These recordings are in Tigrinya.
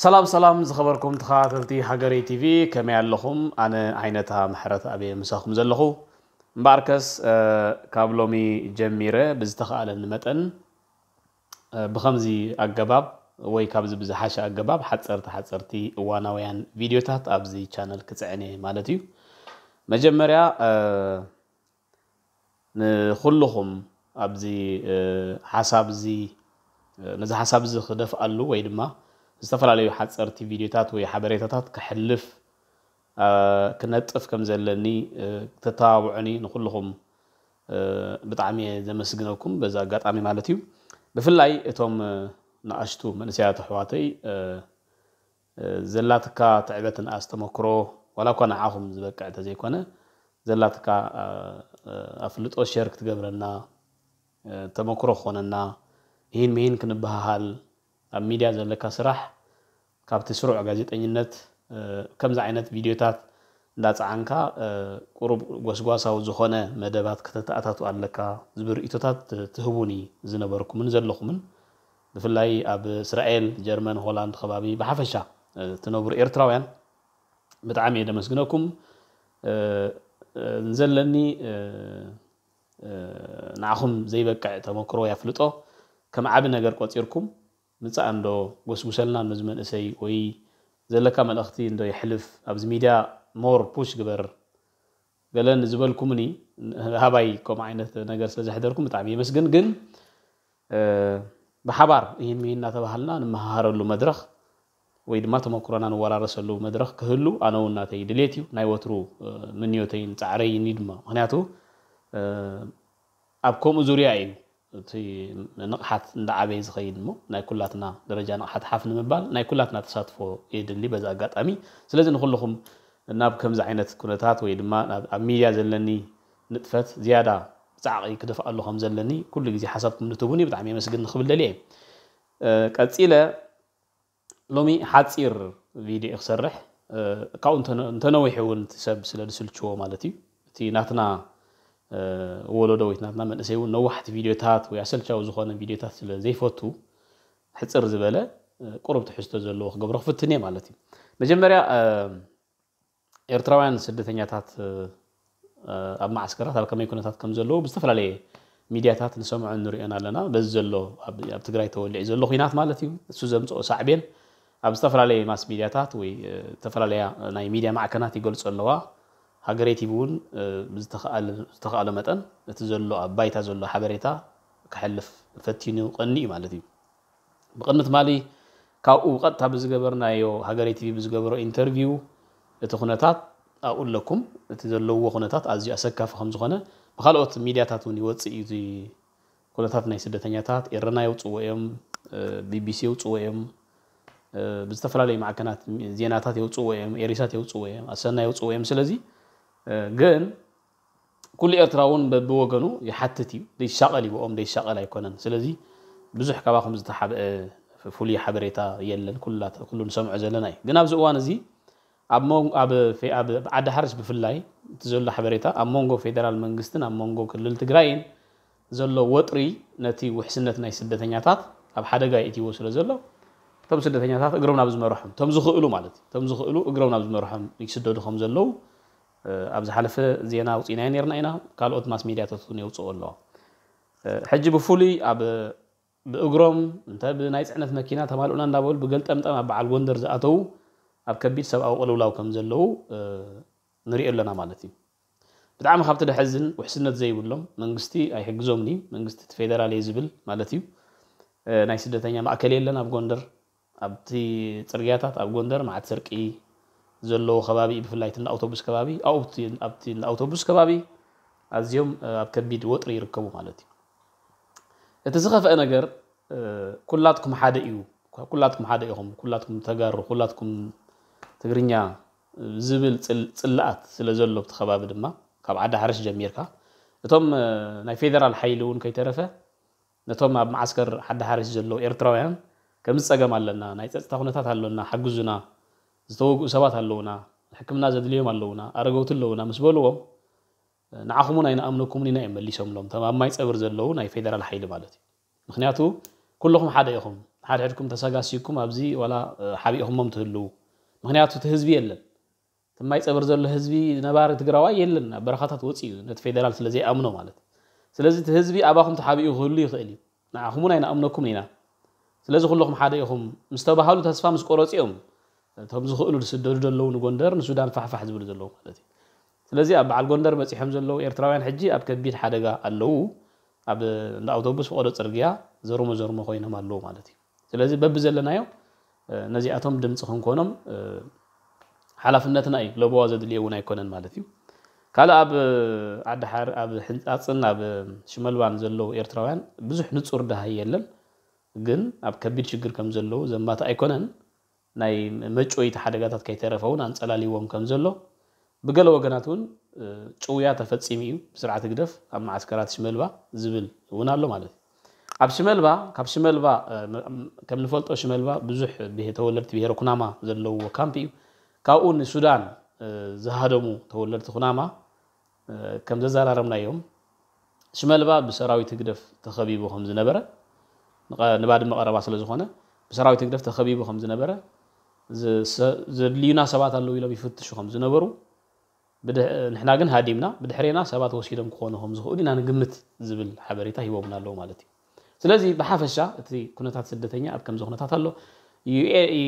ሰላም ሰላም ዝኸበርኩም ተኸታተልቲ ሃገረይ ቲቪ፣ ከመይ ኣለኹም? ኣነ ዓይነታ ምሕረት ኣበየ ምሳኹም ዘለኹ። እምበኣርከስ ካብ ሎሚ ጀሚረ ብዝተኻእለኒ መጠን ብኸምዚ ኣገባብ ወይ ካብዚ ብዝሓሸ ኣገባብ ሓፀርቲ ሓፀርቲ እዋናውያን ቪድዮታት ኣብዚ ቻነል ክፅዕን እየ ማለት እዩ። መጀመርያ ንኹልኹም ኣብዚ ሓሳብ እዚ ነዚ ሓሳብ እዚ ክደፍኣሉ ወይ ድማ ዝተፈላለዩ ሓፀርቲ ቪድዮታት ወይ ሓበሬታታት ክሕልፍ ክነጥፍ ከም ዘለኒ ተተባብዑኒ ንኹልኹም ብጣዕሚ እየ ዘመስግነኩም በዚ ኣጋጣሚ ማለት እዩ። ብፍላይ እቶም ንኣሽቱ መንእሰያት ኣሕዋተይ ዘላትካ ትዕበትን ኣስተመክሮ ዋላ እኳ ንዓኹም ዝበቅዕ ተዘይኮነ ዘላትካ ኣፍልጦ ሸር ክትገብረና ተመክሮ ክኾነና ይህን ምሂን ክንበሃሃል ኣብ ሚድያ ዘለካ ስራሕ ካብቲ ስሩዕ ጋዜጠኝነት ከምዚ ዓይነት ቪድዮታት እንዳፀዓንካ ቁሩብ ጎስጓሳዊ ዝኾነ መደባት ከተተኣታቱ ኣለካ ዝብል ርእቶታት ትህቡኒ ዝነበርኩምን ዘለኹምን ብፍላይ ኣብ እስራኤል፣ ጀርመን፣ ሆላንድ ከባቢ ብሓፈሻ ትነብሩ ኤርትራውያን ብጣዕሚ እየ ደመስግነኩም። ንዘለኒ ንዓኹም ዘይበቅዕ ተመክሮ ያፍልጦ ከም ዓቢ ነገር ቆጺርኩም ምጻእ እንዶ ጎስጉሰልና ነዚ መንእሰይ ወይ ዘለካ መልእኽቲ እንዶ የሕልፍ ኣብዚ ሚድያ ሞር ፑሽ ግበር ገለ ንዝበልኩምኒ ሃባይ ከምኡ ዓይነት ነገር ስለ ዘሕደርኩም ብጣዕሚ የመስግን። ግን ብሓባር ይህን ምሂን እናተባሃልና ንመሃሃረሉ መድረኽ ወይ ድማ ተመክሮና ንወራረሰሉ መድረኽ ክህሉ ኣነ እውን ናተይ ድሌት እዩ ናይ ወትሩ ምንዮተይን ፃዕረይን እዩ ድማ ምክንያቱ ኣብ ከምኡ ዙርያ እዩ እቲ ንቕሓት እንዳዓበየ ዝኸይድ እሞ ናይ ኩላትና ደረጃ ንቕሓት ሓፍ ንምባል ናይ ኩላትና ተሳትፎ የድሊ በዚ ኣጋጣሚ ስለዚ ንኩልኹም ናብ ከምዚ ዓይነት ኩነታት ወይ ድማ ኣብ ሚድያ ዘለኒ ንጥፈት ዝያዳ ብፃዕቂ ክደፍኣሉ ከም ዘለኒ ኩሉ ግዜ ሓሳብኩም ንትቡኒ ብጣዕሚ የመስግን ክብል ደልየ ቀፂለ ሎሚ ሓፂር ቪድዮ ክሰርሕ ካብኡ እንተነዊሑ እውን ሰብ ስለ ዝስልችዎ ማለት እዩ እቲ ናትና ወለዶ ወይ ናትና መንእሰይ እውን ነዋሕቲ ቪድዮታት ወይ ኣሰልቻዊ ዝኾነ ቪድዮታት ስለ ዘይፈቱ ሕፅር ዝበለ ቁሩብ ትሕዝቶ ዘለዎ ክገብሮ ክፍትን እየ ማለት እዩ መጀመርያ ኤርትራውያን ስደተኛታት ኣብ ማዓስከራት ኣብ ከመይ ኩነታት ከም ዘለዉ ብዝተፈላለየ ሚድያታት ንሰምዖ ንሪኦን ኣለና በዚ ዘሎ ኣብ ትግራይ ተወሊዑ ዘሎ ኩናት ማለት እዩ እሱ ዘምፅኦ ሳዕቤን ኣብ ዝተፈላለየ ማስ ሚድያታት ወይ ዝተፈላለያ ናይ ሚድያ ማዕከናት ይገልፁ ኣለዋ ሃገረይ ቲቪ እውን ብዝተኸኣለ መጠን እቲ ዘሎ ኣብ ባይታ ዘሎ ሓበሬታ ክሕልፍ ፈቲኑ ቀኒ እዩ ማለት እዩ ብቕድሚ ትማሊ ካብኡ ብቐጥታ ብዝገበርናዮ ሃገረይ ቲቪ ብዝገበሮ ኢንተርቪው እቲ ኩነታት ኣብኡ ኣለኩም እቲ ዘለውዎ ኩነታት ኣዝዩ ኣሰካፊ ከም ዝኾነ ብካልኦት ሚድያታት እውን ይወፅእ እዩ ኩነታት ናይ ስደተኛታት ኤረና የውፅዎ እዮም ቢቢሲ የውፅዎ እዮም ብዝተፈላለዩ ማዕከናት ዜናታት የውፅዎ እዮም ኤሪሳት የውፅዎ እዮም ኣሰና የውፅዎ እዮም ስለዚ ግን ኩሉ ኤርትራ እውን በብወገኑ ይሓትት እዩ ደይሻቐል ይብኦም ደይሻቐል ኣይኮነን ስለዚ ብዙሕ ካባኹም ዝተሓብአ ፍሉይ ሓበሬታ የለን ኩሉ ንሰምዖ ዘለና እዩ ግን ኣብዚ እዋን እዚ ኣብ ዓዲ ሓርሽ ብፍላይ እቲ ዘሎ ሓበሬታ ኣብ መንጎ ፌደራል መንግስትን ኣብ መንጎ ክልል ትግራይን ዘሎ ወጥሪ ነቲ ውሕስነት ናይ ስደተኛታት ኣብ ሓደጋ የእትይዎ ስለ ዘሎ እቶም ስደተኛታት እግሮም ናብ ዝመርሖም እቶም ዝኽእሉ ማለት እዩ እቶም ዝኽእሉ እግሮም ናብ ዝመርሖም ይስደዱ ከም ዘለዉ ኣብ ዝሓለፈ ዜና ኣውፂእናዮ ነርና ኢና ካልኦት ማስ ሚድያታት እውን የውፅኦ ኣለዋ ሕጂ ብፍሉይ ኣብ ብእግሮም እንተ ብናይ ፅዕነት መኪና ተማልኡና እንዳበሉ ብገልጠምጠም ኣብ በዓል ጎንደር ዝኣተዉ ኣብ ከቢድ ሰብኣዊ ቅልውላው ከም ዘለዉ ንሪኦ ኣለና ማለት እዩ ብጣዕሚ ካብቲ ደሐዝን ውሕስነት ዘይብሎም መንግስቲ ኣይሕግዞምን እዩ መንግስቲ እቲ ፌደራል እየ ዝብል ማለት እዩ ናይ ስደተኛ ማእከል የለን ኣብ ጎንደር ኣብቲ ፅርግያታት ኣብ ጎንደር መዓት ስርቂ ዘለዎ ከባቢ እዩ ብፍላይ እቲ ኣውቶቡስ ከባቢ ኣብኡ ኣብቲ ኣውቶቡስ ከባቢ ኣዝዮም ኣብ ከቢድ ወጥሪ ይርከቡ ማለት እዩ እቲ ዝኸፍአ ነገር ኩላትኩም ሓደ እዩ ኩላትኩም ሓደ ኢኹም ኩላትኩም ተጋሩ ኩላትኩም ትግርኛ ዝብል ፅላኣት ስለ ዘሎ ኣብቲ ከባቢ ድማ ካብ ዓዲ ሓርሽ ጀሚርካ እቶም ናይ ፌደራል ሓይሊ እውን ከይተረፈ ነቶም ኣብ መዓስከር ዓዲ ሓርሽ ዘለዉ ኤርትራውያን ከምዚ ፀገም ኣለና ናይ ፀፅታ ኩነታት ኣሎና ሓግዙና ዝተወግኡ ሰባት ኣለዉና ሕክምና ዘድልዮም ኣለዉና ኣረገውቲ ኣለዉና ምስ በልዎም ንዓኹም እውን ኣይንኣምነኩምን ኢና እዮም መሊሶምሎም እቶም ኣብ ማይ ፀብር ዘለዉ ናይ ፌደራል ሓይሊ ማለት እዩ ምክንያቱ ኩልኹም ሓደ ኢኹም ሓድሕድኩም ተሰጋሲኩም ኣብዚ ዋላ ሓቢእኹሞም ትህልዉ። ምክንያቱ እቲ ህዝቢ የለን። እቲ ማይ ፀብር ዘሎ ህዝቢ ነባሪ ትግራዋይ የለን፣ ኣብ በረኻታት ወፂኡ ነቲ ፌደራል ስለ ዘይኣምኖ ማለት። ስለዚ እቲ ህዝቢ ኣባኹም ተሓቢኡ ክህሉ ይኽእል እዩ። ንዓኹም እውን ኣይንኣምነኩምን ኢና። ስለዚ ኩለኹም ሓደ ኢኹም ምስ ተባሃሉ ተስፋ ምስ ቆረፂኦም እቶም ዝኽእሉ ዝስደዱ ዘለዉ ንጎንደር ንሱዳን ፋሕፋሕ ዝብሉ ዘለዉ ማለት እዩ። ስለዚ ኣብ በዓል ጎንደር በፂሖም ዘለዉ ኤርትራውያን ሕጂ ኣብ ከቢድ ሓደጋ ኣለዉ። ኣብ እንዳ ኣውቶቡስ ፈቐዶ ፅርግያ ዘርሞ ዘርሞ ኮይኖም ኣለዉ ማለት እዩ። ስለዚ በብዘለናዮ ነዚኣቶም ድምፂ ክንኮኖም ሓላፍነትና እዩ። ለበዋ ዘድልዮ እውን ኣይኮነን ማለት እዩ። ካልእ ኣብ ዓዲ ሓር ኣብ ሕንፃፅን ኣብ ሽመልባን ዘለዉ ኤርትራውያን ብዙሕ ንፁር ደሃይ የለን። ግን ኣብ ከቢድ ሽግር ከም ዘለዉ ዘማት ኣይኮነን። ናይ መጭወይቲ ሓደጋታት ከይተረፈ እውን ኣንፀላልዎም ከም ዘሎ ብገለ ወገናት እውን ጭውያ ተፈፂሙ እዩ ብስርዓት ህግደፍ ኣብ መዓስከራት ሽመልባ ዝብል እውን ኣሎ ማለት እዩ። ኣብ ሽመልባ ካብ ሽመልባ ከም ንፈልጦ ሽመልባ ብዙሕ ተወለድቲ ብሄረ ኩናማ ዘለውዎ ካምፕ እዩ። ካብኡ ንሱዳን ዝሃደሙ ተወለድቲ ኩናማ ከም ዘዘራረብናዮም ሽመልባ ብሰራዊት ህግደፍ ተኸቢቡ ከም ዝነበረ ንባድመ ቀረባ ስለ ዝኾነ ብሰራዊት ህግደፍ ተኸቢቡ ከም ዝነበረ ዘድልዩና ሰባት ኣለዉ ኢሎም ይፍትሹ ከም ዝነበሩ ንሕና ግን ሃዲምና ብድሕሬና ሰባት ወሲዶም ክኾኑ ከም ዝኽእሉ ኢና ንግምት ዝብል ሓበሬታ ሂቦምና ኣለዉ ማለት እዩ። ስለዚ ብሓፈሻ እቲ ኩነታት ስደተኛ ኣብ ከምዚ ኩነታት ኣሎ።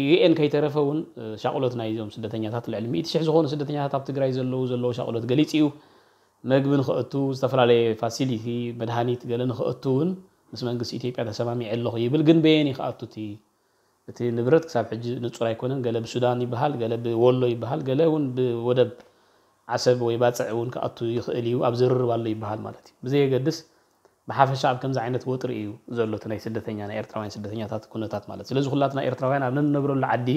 ዩኤን ከይተረፈ እውን ሻቕሎት ናይዞም ስደተኛታት ልዕሊ ሚእቲ ሽሕ ዝኾኑ ስደተኛታት ኣብ ትግራይ ዘለዉ ዘለዎ ሻቕሎት ገሊፅ እዩ። መግቢ ንኽእቱ ዝተፈላለየ ፋሲሊቲ መድሃኒት ገለ ንኽእቱ እውን ምስ መንግስቲ ኢትዮጵያ ተሰማሚዐ ኣለኹ ይብል። ግን በየን ይክኣቱ እቲ እቲ ንብረት ክሳብ ሕጂ ንጹር ኣይኮነን። ገለ ብሱዳን ይበሃል፣ ገለ ብወሎ ይበሃል፣ ገለ እውን ብወደብ ዓሰብ ወይ ባጽዕ እውን ክኣቱ ይኽእል እዩ፣ ኣብ ዝርርብ ኣሎ ይበሃል ማለት እዩ። ብዘየገድስ ብሓፈሻ ኣብ ከምዚ ዓይነት ወጥሪ እዩ ዘሎ እቲ ናይ ስደተኛ ናይ ኤርትራውያን ስደተኛታት ኩነታት ማለት። ስለዚ ኩላትና ኤርትራውያን ኣብ ንነብረሉ ዓዲ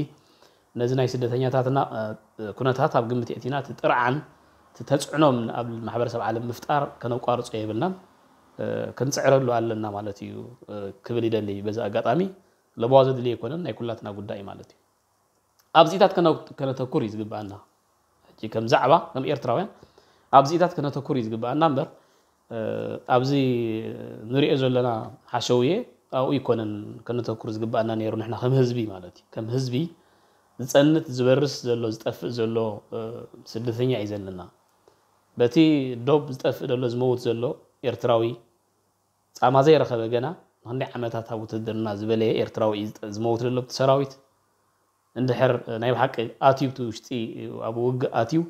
ነዚ ናይ ስደተኛታትና ኩነታት ኣብ ግምት የእቲና እቲ ጥርዓን እቲ ተጽዕኖም ኣብ ማሕበረሰብ ዓለም ምፍጣር ከነቋርጾ የብልናን ክንጽዕረሉ ኣለና ማለት እዩ ክብል ይደሊ። በዚ ኣጋጣሚ ለበዋ ዘድሊ ኣይኮነን፣ ናይ ኩላትና ጉዳይ እዩ ማለት እዩ። ኣብዚታት ከነተኩር እዩ ዝግብኣና። ሕጂ ከም ዛዕባ ከም ኤርትራውያን ኣብዚታት ከነተኩር እዩ ዝግብኣና እምበር ኣብዚ ንሪኦ ዘለና ሓሸውየ ኣብኡ ይኮነን ከነተኩር ዝግብኣና ነይሩ። ንሕና ከም ህዝቢ ማለት እዩ ከም ህዝቢ ዝፀንት ዝበርስ ዘሎ ዝጠፍእ ዘሎ ስደተኛ እዩ ዘለና። በቲ ዶብ ዝጠፍእ ዘሎ ዝመውት ዘሎ ኤርትራዊ ጻማ ዘይረኸበ ገና ንክንደይ ዓመታት ኣብ ውትድርና ዝበለየ ኤርትራዊ እዩ ዝመውት ዘሎ ብቲ ሰራዊት። እንድሕር ናይ ብሓቂ ኣትዩ ብቲ ውሽጢ ኣብ ውግእ ኣትዩ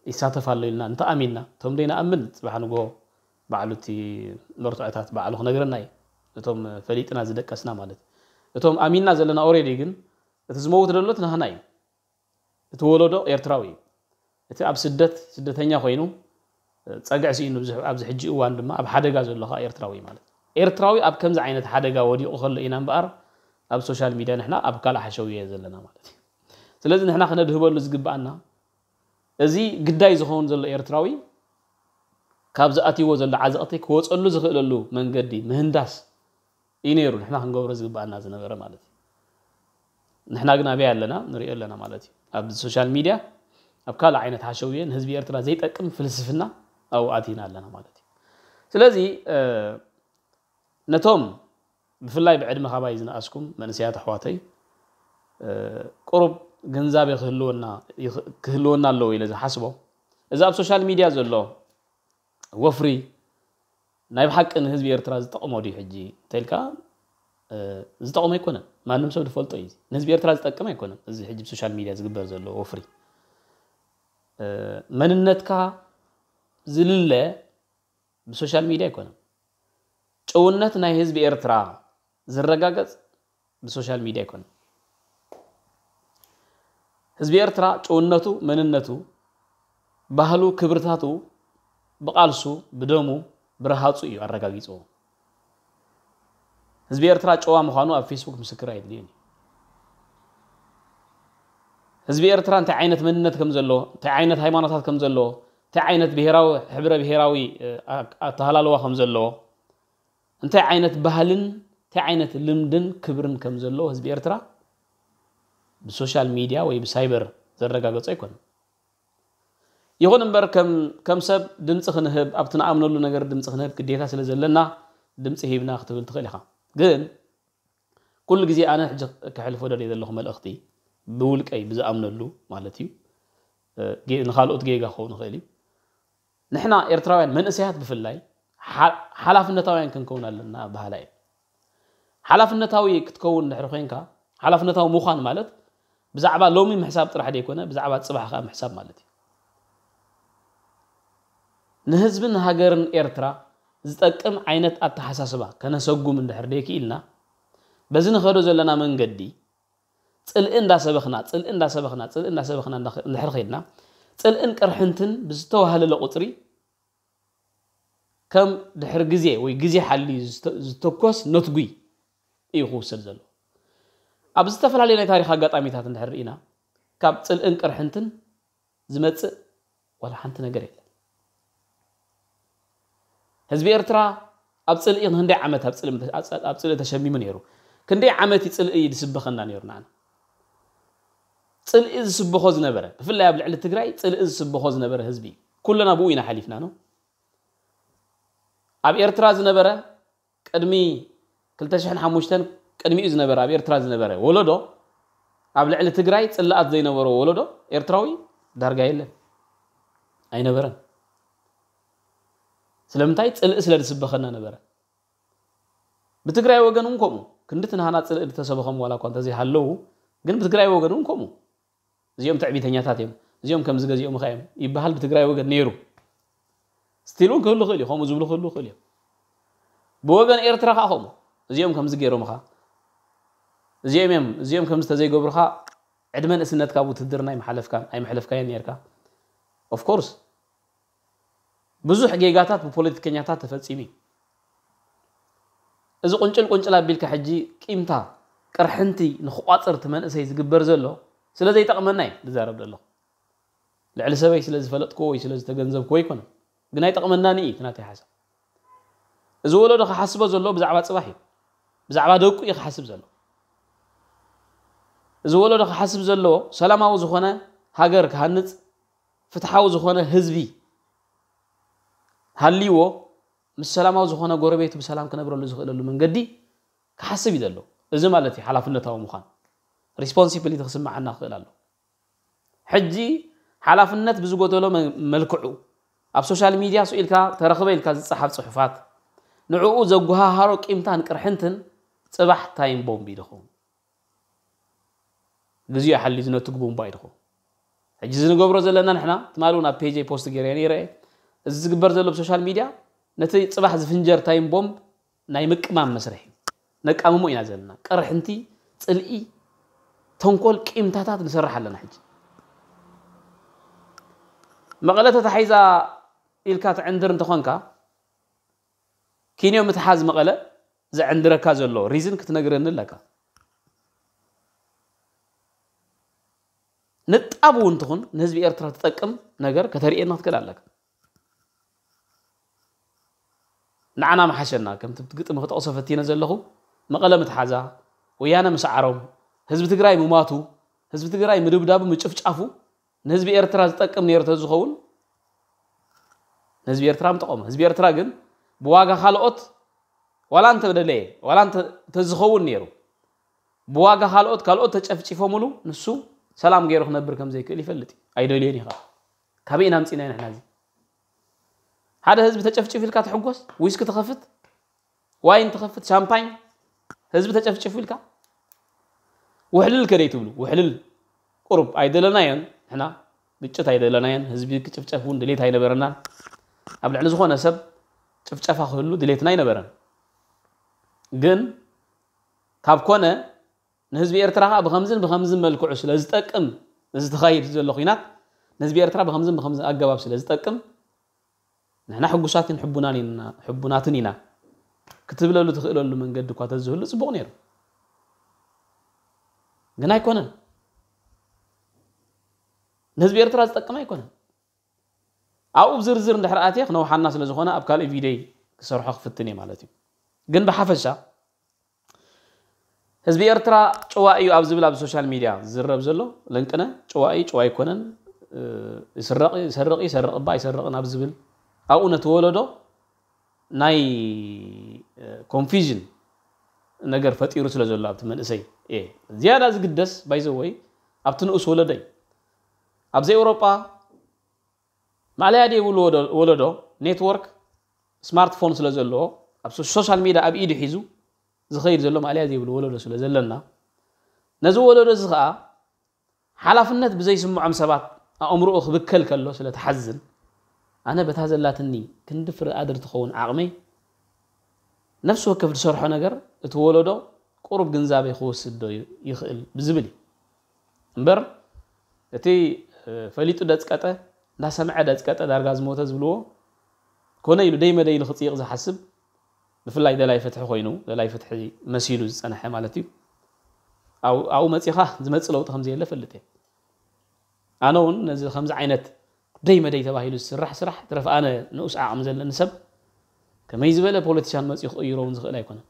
ይሳተፍ ኣሎ ኢልና እንተኣሚንና እቶም ደይንኣምን ፅባሕ ንጎ ባዕሉ እቲ መርትዖታት ባዕሉ ክነግረና እዩ። እቶም ፈሊጥና ዝደቀስና ማለት እቶም ኣሚንና ዘለና ኦሬዲ ግን እቲ ዝመውት ዘሎ እቲ ናህና እዩ። እቲ ወለዶ ኤርትራዊ እዩ። እቲ ኣብ ስደት ስደተኛ ኮይኑ ፀግዒ ስኢኑ ኣብዚ ሕጂ እዋን ድማ ኣብ ሓደጋ ዘሎ ከዓ ኤርትራዊ ማለት እዩ። ኤርትራዊ ኣብ ከምዚ ዓይነት ሓደጋ ወዲቑ ከሎ ኢና እምበኣር ኣብ ሶሻል ሚድያ ንሕና ኣብ ካልእ ሓሸውየ ዘለና ማለት እዩ። ስለዚ ንሕና ክነድህበሉ ዝግብኣና እዚ ግዳይ ዝኸውን ዘሎ ኤርትራዊ ካብ ዝኣትይዎ ዘሎ ዓዘቕቲ ክወፀሉ ዝኽእለሉ መንገዲ ምህንዳስ እዩ ነይሩ ንሕና ክንገብሮ ዝግብኣና ዝነበረ ማለት እዩ። ንሕና ግን ኣበይ ኣለና ንሪኦ ኣለና ማለት እዩ። ኣብ ሶሻል ሚድያ ኣብ ካልእ ዓይነት ሓሸውየ ንህዝቢ ኤርትራ ዘይጠቅም ፍልስፍና ኣብኡ ኣቲና ኣለና ማለት እዩ። ስለዚ ነቶም ብፍላይ ብዕድመ ካባይ ዝነኣስኩም መንእሰያት ኣሕዋተይ ቁሩብ ግንዛቤ ክህልወና ኣለዎ ኢለ ዝሓስቦ እዚ ኣብ ሶሻል ሚድያ ዘሎ ወፍሪ ናይ ብሓቂ ንህዝቢ ኤርትራ ዝጠቕሞ ድዩ ሕጂ እንተልካ ዝጠቕሞ ኣይኮነን። ማንም ሰብ ዝፈልጦ እዩ። ንህዝቢ ኤርትራ ዝጠቅም ኣይኮነን። እዚ ሕጂ ብሶሻል ሚድያ ዝግበር ዘሎ ወፍሪ መንነትካ ዝልለ ብሶሻል ሚድያ ኣይኮነን። ጭውነት ናይ ህዝቢ ኤርትራ ዝረጋገጽ ብሶሻል ሚድያ ኣይኮነን። ህዝቢ ኤርትራ ጭውነቱ፣ መንነቱ፣ ባህሉ፣ ክብርታቱ ብቓልሱ፣ ብደሙ፣ ብረሃጹ እዩ ኣረጋጊጽዎ። ህዝቢ ኤርትራ ጨዋ ምዃኑ ኣብ ፌስቡክ ምስክር ኣየድልዮን እዩ። ህዝቢ ኤርትራ እንታይ ዓይነት መንነት ከም ዘለዎ፣ እንታይ ዓይነት ሃይማኖታት ከም ዘለዎ፣ እንታይ ዓይነት ብሄራዊ፣ ሕብረ ብሄራዊ ኣተሃላልዋ ከም ዘለዎ፣ እንታይ ዓይነት ባህልን እንታይ ዓይነት ልምድን ክብርን ከም ዘለዎ ህዝቢ ኤርትራ ብሶሻል ሚድያ ወይ ብሳይበር ዘረጋገጾ ኣይኮነን። ይኹን እምበር ከም ሰብ ድምፂ ክንህብ ኣብቲ ንኣምነሉ ነገር ድምፂ ክንህብ ግዴታ ስለ ዘለና ድምፂ ሂብና ክትብል ትኽእል ኢኻ። ግን ኩሉ ግዜ ኣነ ሕጂ ከሕልፎ ደልየ ዘለኹ መልእኽቲ፣ ብውልቀይ ብዝኣምነሉ ማለት እዩ፣ እ፣ ጌ-፣ ንኻልኦት ጌጋ ክኸውን ይኽእል እዩ። ንሕና ኤርትራውያን መንእሰያት ብፍላይ ሓ-፣ ሓላፍነታውያን ክንከውን ኣለና በሃላይ እየ። ሓላፍነታዊ ክትከውን ድሕሪ ኮይንካ፣ ሓላፍነታዊ ምዃን ማለት ብዛዕባ ሎሚ ምሕሳብ ጥራሕ ዘይኮነ፣ ብዛዕባ ጽባሕ ከኣ ምሕሳብ ማለት እዩ። ንህዝብን ሃገርን ኤርትራ ዝጠቅም ዓይነት ኣተሓሳስባ ከነሰጉም እንድሕር ደይክኢልና፣ በዚ ንኸዶ ዘለና መንገዲ ጽልኢ እንዳሰበኽና፣ ጽልኢ እንዳሰበኽና፣ ጽልኢ እንዳሰበኽና እንዳ-፣ እንድሕር ኸይድና፣ ጽልእን ቅርሕንትን ብዝተዋህለለ ቁጽሪ፣ ከም ድሕሪ ግዜ ወይ ግዜ ሓልዩ ዝተ-፣ ዝተኮስ ነትጒ እዩ ክውሰድ ዘሎ። ኣብ ዝተፈላለዩ ናይ ታሪኽ ኣጋጣሚታት እንድሕር ርኢና፣ ካብ ጽልእን ቅርሕንትን ዝመጽእ ዋላ ሓንቲ ነገር የለን። ህዝቢ ኤርትራ ኣብ ጽልኢ ክንደይ ዓመት ኣብ ጽልኢ፣ ኣብ ጽልኢ ተሸሚሙ ነይሩ? ክንደይ ዓመት እዩ ጽልኢ ዝስበኸና ነይሩ ንዓና? ጽልኢ ዝስበኾ ዝነበረ፣ ብፍላይ ኣብ ልዕሊ ትግራይ ጽልኢ ዝስበኾ ዝነበረ ህዝቢ እዩ። ኩልና ብኡ ኢና ሓሊፍና ነው። ኣብ ኤርትራ ዝነበረ ቅድሚ ክልተ ሽሕን ሓሙሽተን ቅድሚኡ ዝነበረ ኣብ ኤርትራ ዝነበረ ወለዶ ኣብ ልዕሊ ትግራይ ጽልኣት ዘይነበሮ ወለዶ ኤርትራዊ ዳርጋ የለን። ኣይነበረን። ስለምንታይ? ጽልኢ ስለ ዝስበኸና ነበረ። ብትግራይ ወገን እውን ከምኡ። ክንዲ ትንሃና ጽልኢ ዝተሰበኸም ዋላ እኳ እንተዘይሃለዉ፣ ግን ብትግራይ ወገን እውን ከምኡ። እዚኦም ትዕቢተኛታት እዮም፣ እዚኦም ከምዚ ገዚኦም ኸ እዮም ይበሃል ብትግራይ ወገን ነይሩ። ስቲል እውን ክህሉ ይኽእል እዩ፣ ከምኡ ዝብሉ ክህሉ ይኽእል እዮም። ብወገን ኤርትራ ከዓ ከምኡ። እዚኦም ከምዚ ገይሮምኻ፣ እዚኦም እዮም፣ እዚኦም ከምዚ ተዘይገብሩኻ፣ ዕድመ ንእስነትካ ኣብ ውትድርና ኣይምሓለፍካን፣ ኣይምሕለፍካዮን ነይርካ። ኦፍ ኮርስ፣ ብዙሕ ጌጋታት ብፖለቲከኛታት ተፈጺሙ እዩ። እዚ ቁንጭል ቁንጭል ኣቢልካ ሕጂ ቂምታ፣ ቅርሕንቲ ንኽቋጽር እቲ መንእሰይ ዝግበር ዘሎ ስለ ዘይጠቕመና እዩ ዝዛረብ ዘለኹ። ልዕሊ ሰበይ ስለ ዝፈለጥክዎ ወይ ስለ ዝተገንዘብክዎ ኣይኮነን። ግን ኣይጠቕመናን እዩ እቲ ናተይ ሓሳብ። እዚ ወለዶ ክሓስቦ ዘለዎ ብዛዕባ ጽባሕ እዩ። ብዛዕባ ደቁ እዩ ክሓስብ ዘሎ። እዚ ወለዶ ክሓስብ ዘለዎ ሰላማዊ ዝኾነ ሃገር ክሃንጽ፣ ፍትሓዊ ዝኾነ ህዝቢ ሃልይዎ፣ ምስ ሰላማዊ ዝኾነ ጎረቤቱ ብሰላም ክነብረሉ ዝኽእለሉ መንገዲ ክሓስብ እዩ ዘሎ። እዚ ማለት እዩ ሓላፍነታዊ ምዃን። ሪስፖንሲቢሊቲ ክስምዓና ክኽእል ኣሎ። ሕጂ ሓላፍነት ብዝጎደሎ መ-፣ መልክዑ ኣብ ሶሻል ሚድያ ስኢልካ ተረኽበ ኢልካ ዝጸሓፍ ጽሑፋት፣ ንዕኡ ዘጓሃሃሮ ቂምታን ቅርሕንትን ጽባሕ ታይም ቦምብ እዩ ዝኸውን። ግዜኡ ሓልዩ ዝነትግ ቡምባ እዩ ዝኸውን። ሕጂ እዚ ንገብሮ ዘለና ንሕና፣ ትማሊ እውን ኣብ ፔጀይ ፖስት ገይረ ነይረ እየ። እዚ ዝግበር ዘሎ ብሶሻል ሚድያ ነቲ ጽባሕ ዝፍንጀር ታይም ቦምብ ናይ ምቅማም መስርሕ እዩ። ነቃምሞ ኢና ዘለና። ቅርሕንቲ፣ ጽልኢ፣ ተንኮል፣ ቂምታታት ንሰርሕ ኣለና። ሕጂ መቐለ ተታሒዛ ኢልካ ትዕንድር እንተኾንካ፣ ኪንዮ ምትሓዝ መቐለ ዘዕንድረካ ዘሎ ሪዝን ክትነግረኒ ኣለካ። ንጣብ እውን ትኹን ንህዝቢ ኤርትራ ትጠቅም ነገር ከተርእየና ክትክእል ኣለካ። ንዓና መሓሸና። ከምቲ ግጥሚ ክጠቕሶ ፈቲነ ዘለኹ፣ መቐለ ምትሓዛ፣ ወያነ ምስዓሮም፣ ህዝቢ ትግራይ ምማቱ፣ ህዝቢ ትግራይ ምድብዳቡ፣ ምጭፍጫፉ ንህዝቢ ኤርትራ ዝጠቅም ነይሩ ተዝኸውን ንህዝቢ ኤርትራ ምጠቐሞ። ህዝቢ ኤርትራ ግን ብዋጋ ካልኦት ዋላ እንተደለየ፣ ዋላ እንተ-፣ እንተዝኸውን ነይሩ፣ ብዋጋ ካልኦት፣ ካልኦት ተጨፍጪፎምሉ ንሱ ሰላም ገይሩ ክነብር ከም ዘይክእል ይፈልጥ እዩ። ኣይደልዮን እዩ ከዓ። ካበይ ኢና ኣምፂእናዮ ንሕና እዚ? ሓደ ህዝቢ ተጨፍጪፉ ኢልካ ትሕጎስ? ዊስኪ ትኸፍት? ዋይን ትኸፍት? ሻምፓኝ? ህዝቢ ተጨፍጪፉ ኢልካ? ውሕልል ከደይ ትብሉ? ውሕልል ቁሩብ ኣይደለናዮን ንሕና። ግጭት ኣይደለናዮን። ህዝቢ ክጭፍጨፍ እውን ድሌት ኣይነበረናን። ኣብ ልዕሊ ዝኾነ ሰብ ጭፍጨፋ ክህሉ ድሌትና ኣይነበረን። ግን ካብ ኮነ ንህዝቢ ኤርትራ ከዓ ብኸምዝን ብኸምዝን መልክዑ ስለ ዝጠቅም፣ እዚ ተኻይድ ዘሎ ኲናት ንህዝቢ ኤርትራ ብኸምዝን ብኸምዝን ኣገባብ ስለ ዝጠቅም፣ ንሕና ሕጉሳትን ሕቡናን ኢና፣ ሕቡናትን ኢና ክትብለሉ ትኽእለሉ መንገዲ እኳ ተዝህሉ ጽቡቕ ነይሩ። ግን ኣይኮነን። ንህዝቢ ኤርትራ ዝጠቅም ኣይኮነን። ኣብኡ ብዝርዝር እንድሕር ኣትየ ክነውሓና ስለ ዝኾነ ኣብ ካልእ ቪድዮይ ክሰርሖ ክፍትን እየ ማለት እዩ። ግን ብሓፈሻ ህዝቢ ኤርትራ ጭዋ እዩ ኣብ ዝብል ኣብ ሶሻል ሚድያ ዝዝረብ ዘሎ ለንቅነ ጭዋ እዩ፣ ጭዋ ኣይኮነን፣ እ፣ ይስረቕ፣ ይሰርቕ፣ ይሰርቕ እባ ኣይሰርቕን ኣብ ዝብል ኣብኡ ነቲ ወለዶ ናይ፣ እ፣ ኮንፊዥን ነገር ፈጢሩ ስለ ዘሎ ኣብቲ መንእሰይ እየ ዝያዳ ዝግደስ ባይዘወይ ኣብቲ ንኡስ ወለዶ እዩ። ኣብዚ ኤውሮጳ ማእለያ ዘይብሉ ወዶ- ወለዶ ኔትወርክ ስማርትፎን ስለ ዘለዎ ኣብ ሶ- ሶሻል ሚዲያ ኣብ ኢዱ ሒዙ ዝኸይድ ዘሎ ማእለያ ዘይብሉ ወለዶ ስለ ዘለና ነዚ ወለዶ እዚ ከዓ ሓላፍነት ብዘይስምዖም ሰባት ኣእምሮኡ ክብከል ከሎ ስለ ትሓዝን ኣነ በታ ዘላትኒ ክንዲ ፍረ ኣድር ትኸውን ዓቕመይ ነፍሲ ወከፍ ዝሰርሖ ነገር እቲ ወለዶ ቁሩብ ግንዛቤ ክወስድ ዶ ይኽእል ብዝብል እዩ እምበር እቲ ፈሊጡ ደፅቀጠ እንዳሰምዐ ደፅቀጠ ዳርጋ ዝሞተ ዝብልዎ ኮነ ኢሉ ደይ መደይ ኢሉ ክፅይቕ ዝሓስብ ብፍላይ ደላይ ፍትሒ ኮይኑ ደላይ ፍትሒ መሲሉ ዝፀንሐ ማለት እዩ ኣብኡ መፂኻ ዝመፅእ ለውጢ ከምዘየለ ፈልጥ እየ ኣነ እውን ነዚ ከምዚ ዓይነት ደይ መደይ ተባሂሉ ዝስራሕ ስራሕ ትረፍ ኣነ ንኡስ ዓቕሚ ዘለኒ ሰብ ከመይ ዝበለ ፖለቲሻን መፅኡ ክቕይሮ እውን ዝኽእል ኣይኮነን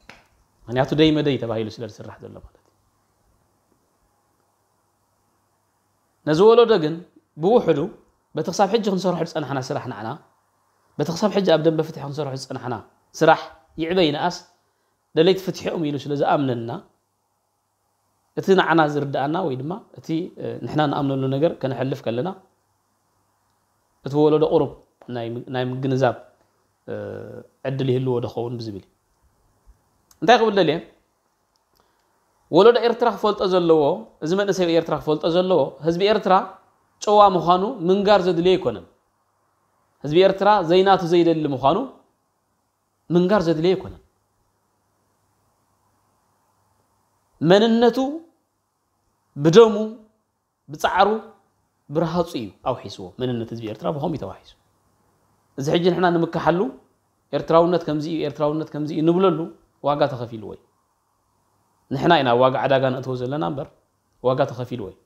ምክንያቱ ደይ መደይ ተባሂሉ ስለ ዝስራሕ ዘሎ ማለት እዩ ነዚ ወለዶ ግን ብውሕዱ በቲ ክሳብ ሕጂ ክንሰርሖ ዝፀናሕና ስራሕ ንዓና በቲ ክሳብ ሕጂ ኣብ ደንበ ፍትሒ ክንሰርሖ ዝፀናሕና ስራሕ ይዕበ ይንኣስ ደለይቲ ፍትሒ እዮም ኢሉ ስለ ዝኣምነና እቲ ንዓና ዝርድኣና ወይ ድማ እቲ ንሕና ንኣምነሉ ነገር ከነሕልፍ ከለና እቲ ወለዶ ቁሩብ ናይ ምግንዛብ ዕድል ይህልዎ ዶ ኸውን ብዝብል እዩ እንታይ ክብል ደልየ ወለዶ ኤርትራ ክፈልጦ ዘለዎ እዚ መንእሰይ ኤርትራ ክፈልጦ ዘለዎ ህዝቢ ኤርትራ ጨዋ ምዃኑ ምንጋር ዘድልዮ ኣይኮነን ህዝቢ ኤርትራ ዘይናቱ ዘይደሊ ምዃኑ ምንጋር ዘድልዮ ኣይኮነን መንነቱ ብደሙ ብጻዕሩ ብርሃጹ እዩ ኣውሒስዎ መንነት ህዝቢ ኤርትራ ብኸምኡ ተዋሒሱ እዚ ሕጂ ንሕና ንምካሓሉ ኤርትራውነት ከምዚ እዩ ኤርትራውነት ከምዚ እዩ ንብለሉ ዋጋ ተኸፊልዎ እዩ ንሕና ኢና ዋጋ ዕዳጋ ነእትዎ ዘለና እምበር ዋጋ ተኸፊልዎ እዩ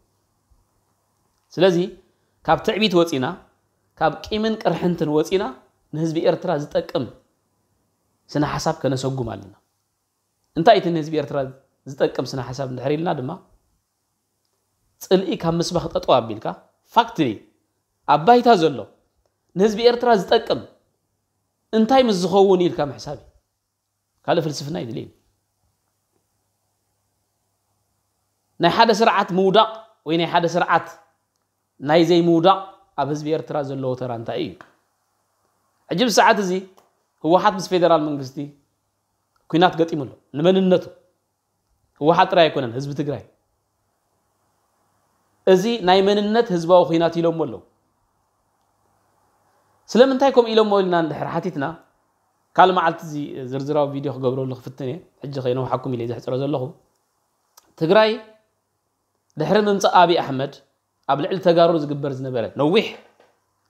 ስለዚ ካብ ትዕቢት ወፂና ካብ ቂምን ቅርሕንትን ወፂና ንህዝቢ ኤርትራ ዝጠቅም ስነ ሓሳብ ከነሰጉም ኣለና እንታይ እቲ ንህዝቢ ኤርትራ ዝጠቅም ስነ ሓሳብ እንድሕር ኢልና ድማ ፅልኢ ካብ ምስባኽ ጠጠው ኣቢልካ ፋክትሊ ኣብ ባይታ ዘሎ ንህዝቢ ኤርትራ ዝጠቅም እንታይ ምስ ዝኸውን ኢልካ ምሕሳብ እዩ ካልእ ፍልስፍና ይድልየ ናይ ሓደ ስርዓት ምውዳቕ ወይ ናይ ሓደ ስርዓት ናይ ዘይምውዳቕ ኣብ ህዝቢ ኤርትራ ዘለዎ ተራ እንታይ እዩ ሕጂ ብሰዓት እዚ ህወሓት ምስ ፌደራል መንግስቲ ኩናት ገጢሙ ኣሎ ንመንነቱ ህወሓት ጥራይ ኣይኮነን ህዝቢ ትግራይ እዚ ናይ መንነት ህዝባዊ ኩናት ኢሎሞ ኣለዉ ስለምንታይ ከምኡ ኢሎሞ ኢልና እንድሕር ሓቲትና ካልእ መዓልቲ እዚ ዝርዝራዊ ቪድዮ ክገብረሉ ክፍትን እየ ሕጂ ከይነውሓኩም ኢለ ዘሕፅሮ ዘለኹ ትግራይ ድሕሪ ምምፃእ ኣብይ ኣሕመድ ኣብ ልዕሊ ተጋሩ ዝግበር ዝነበረ ነዊሕ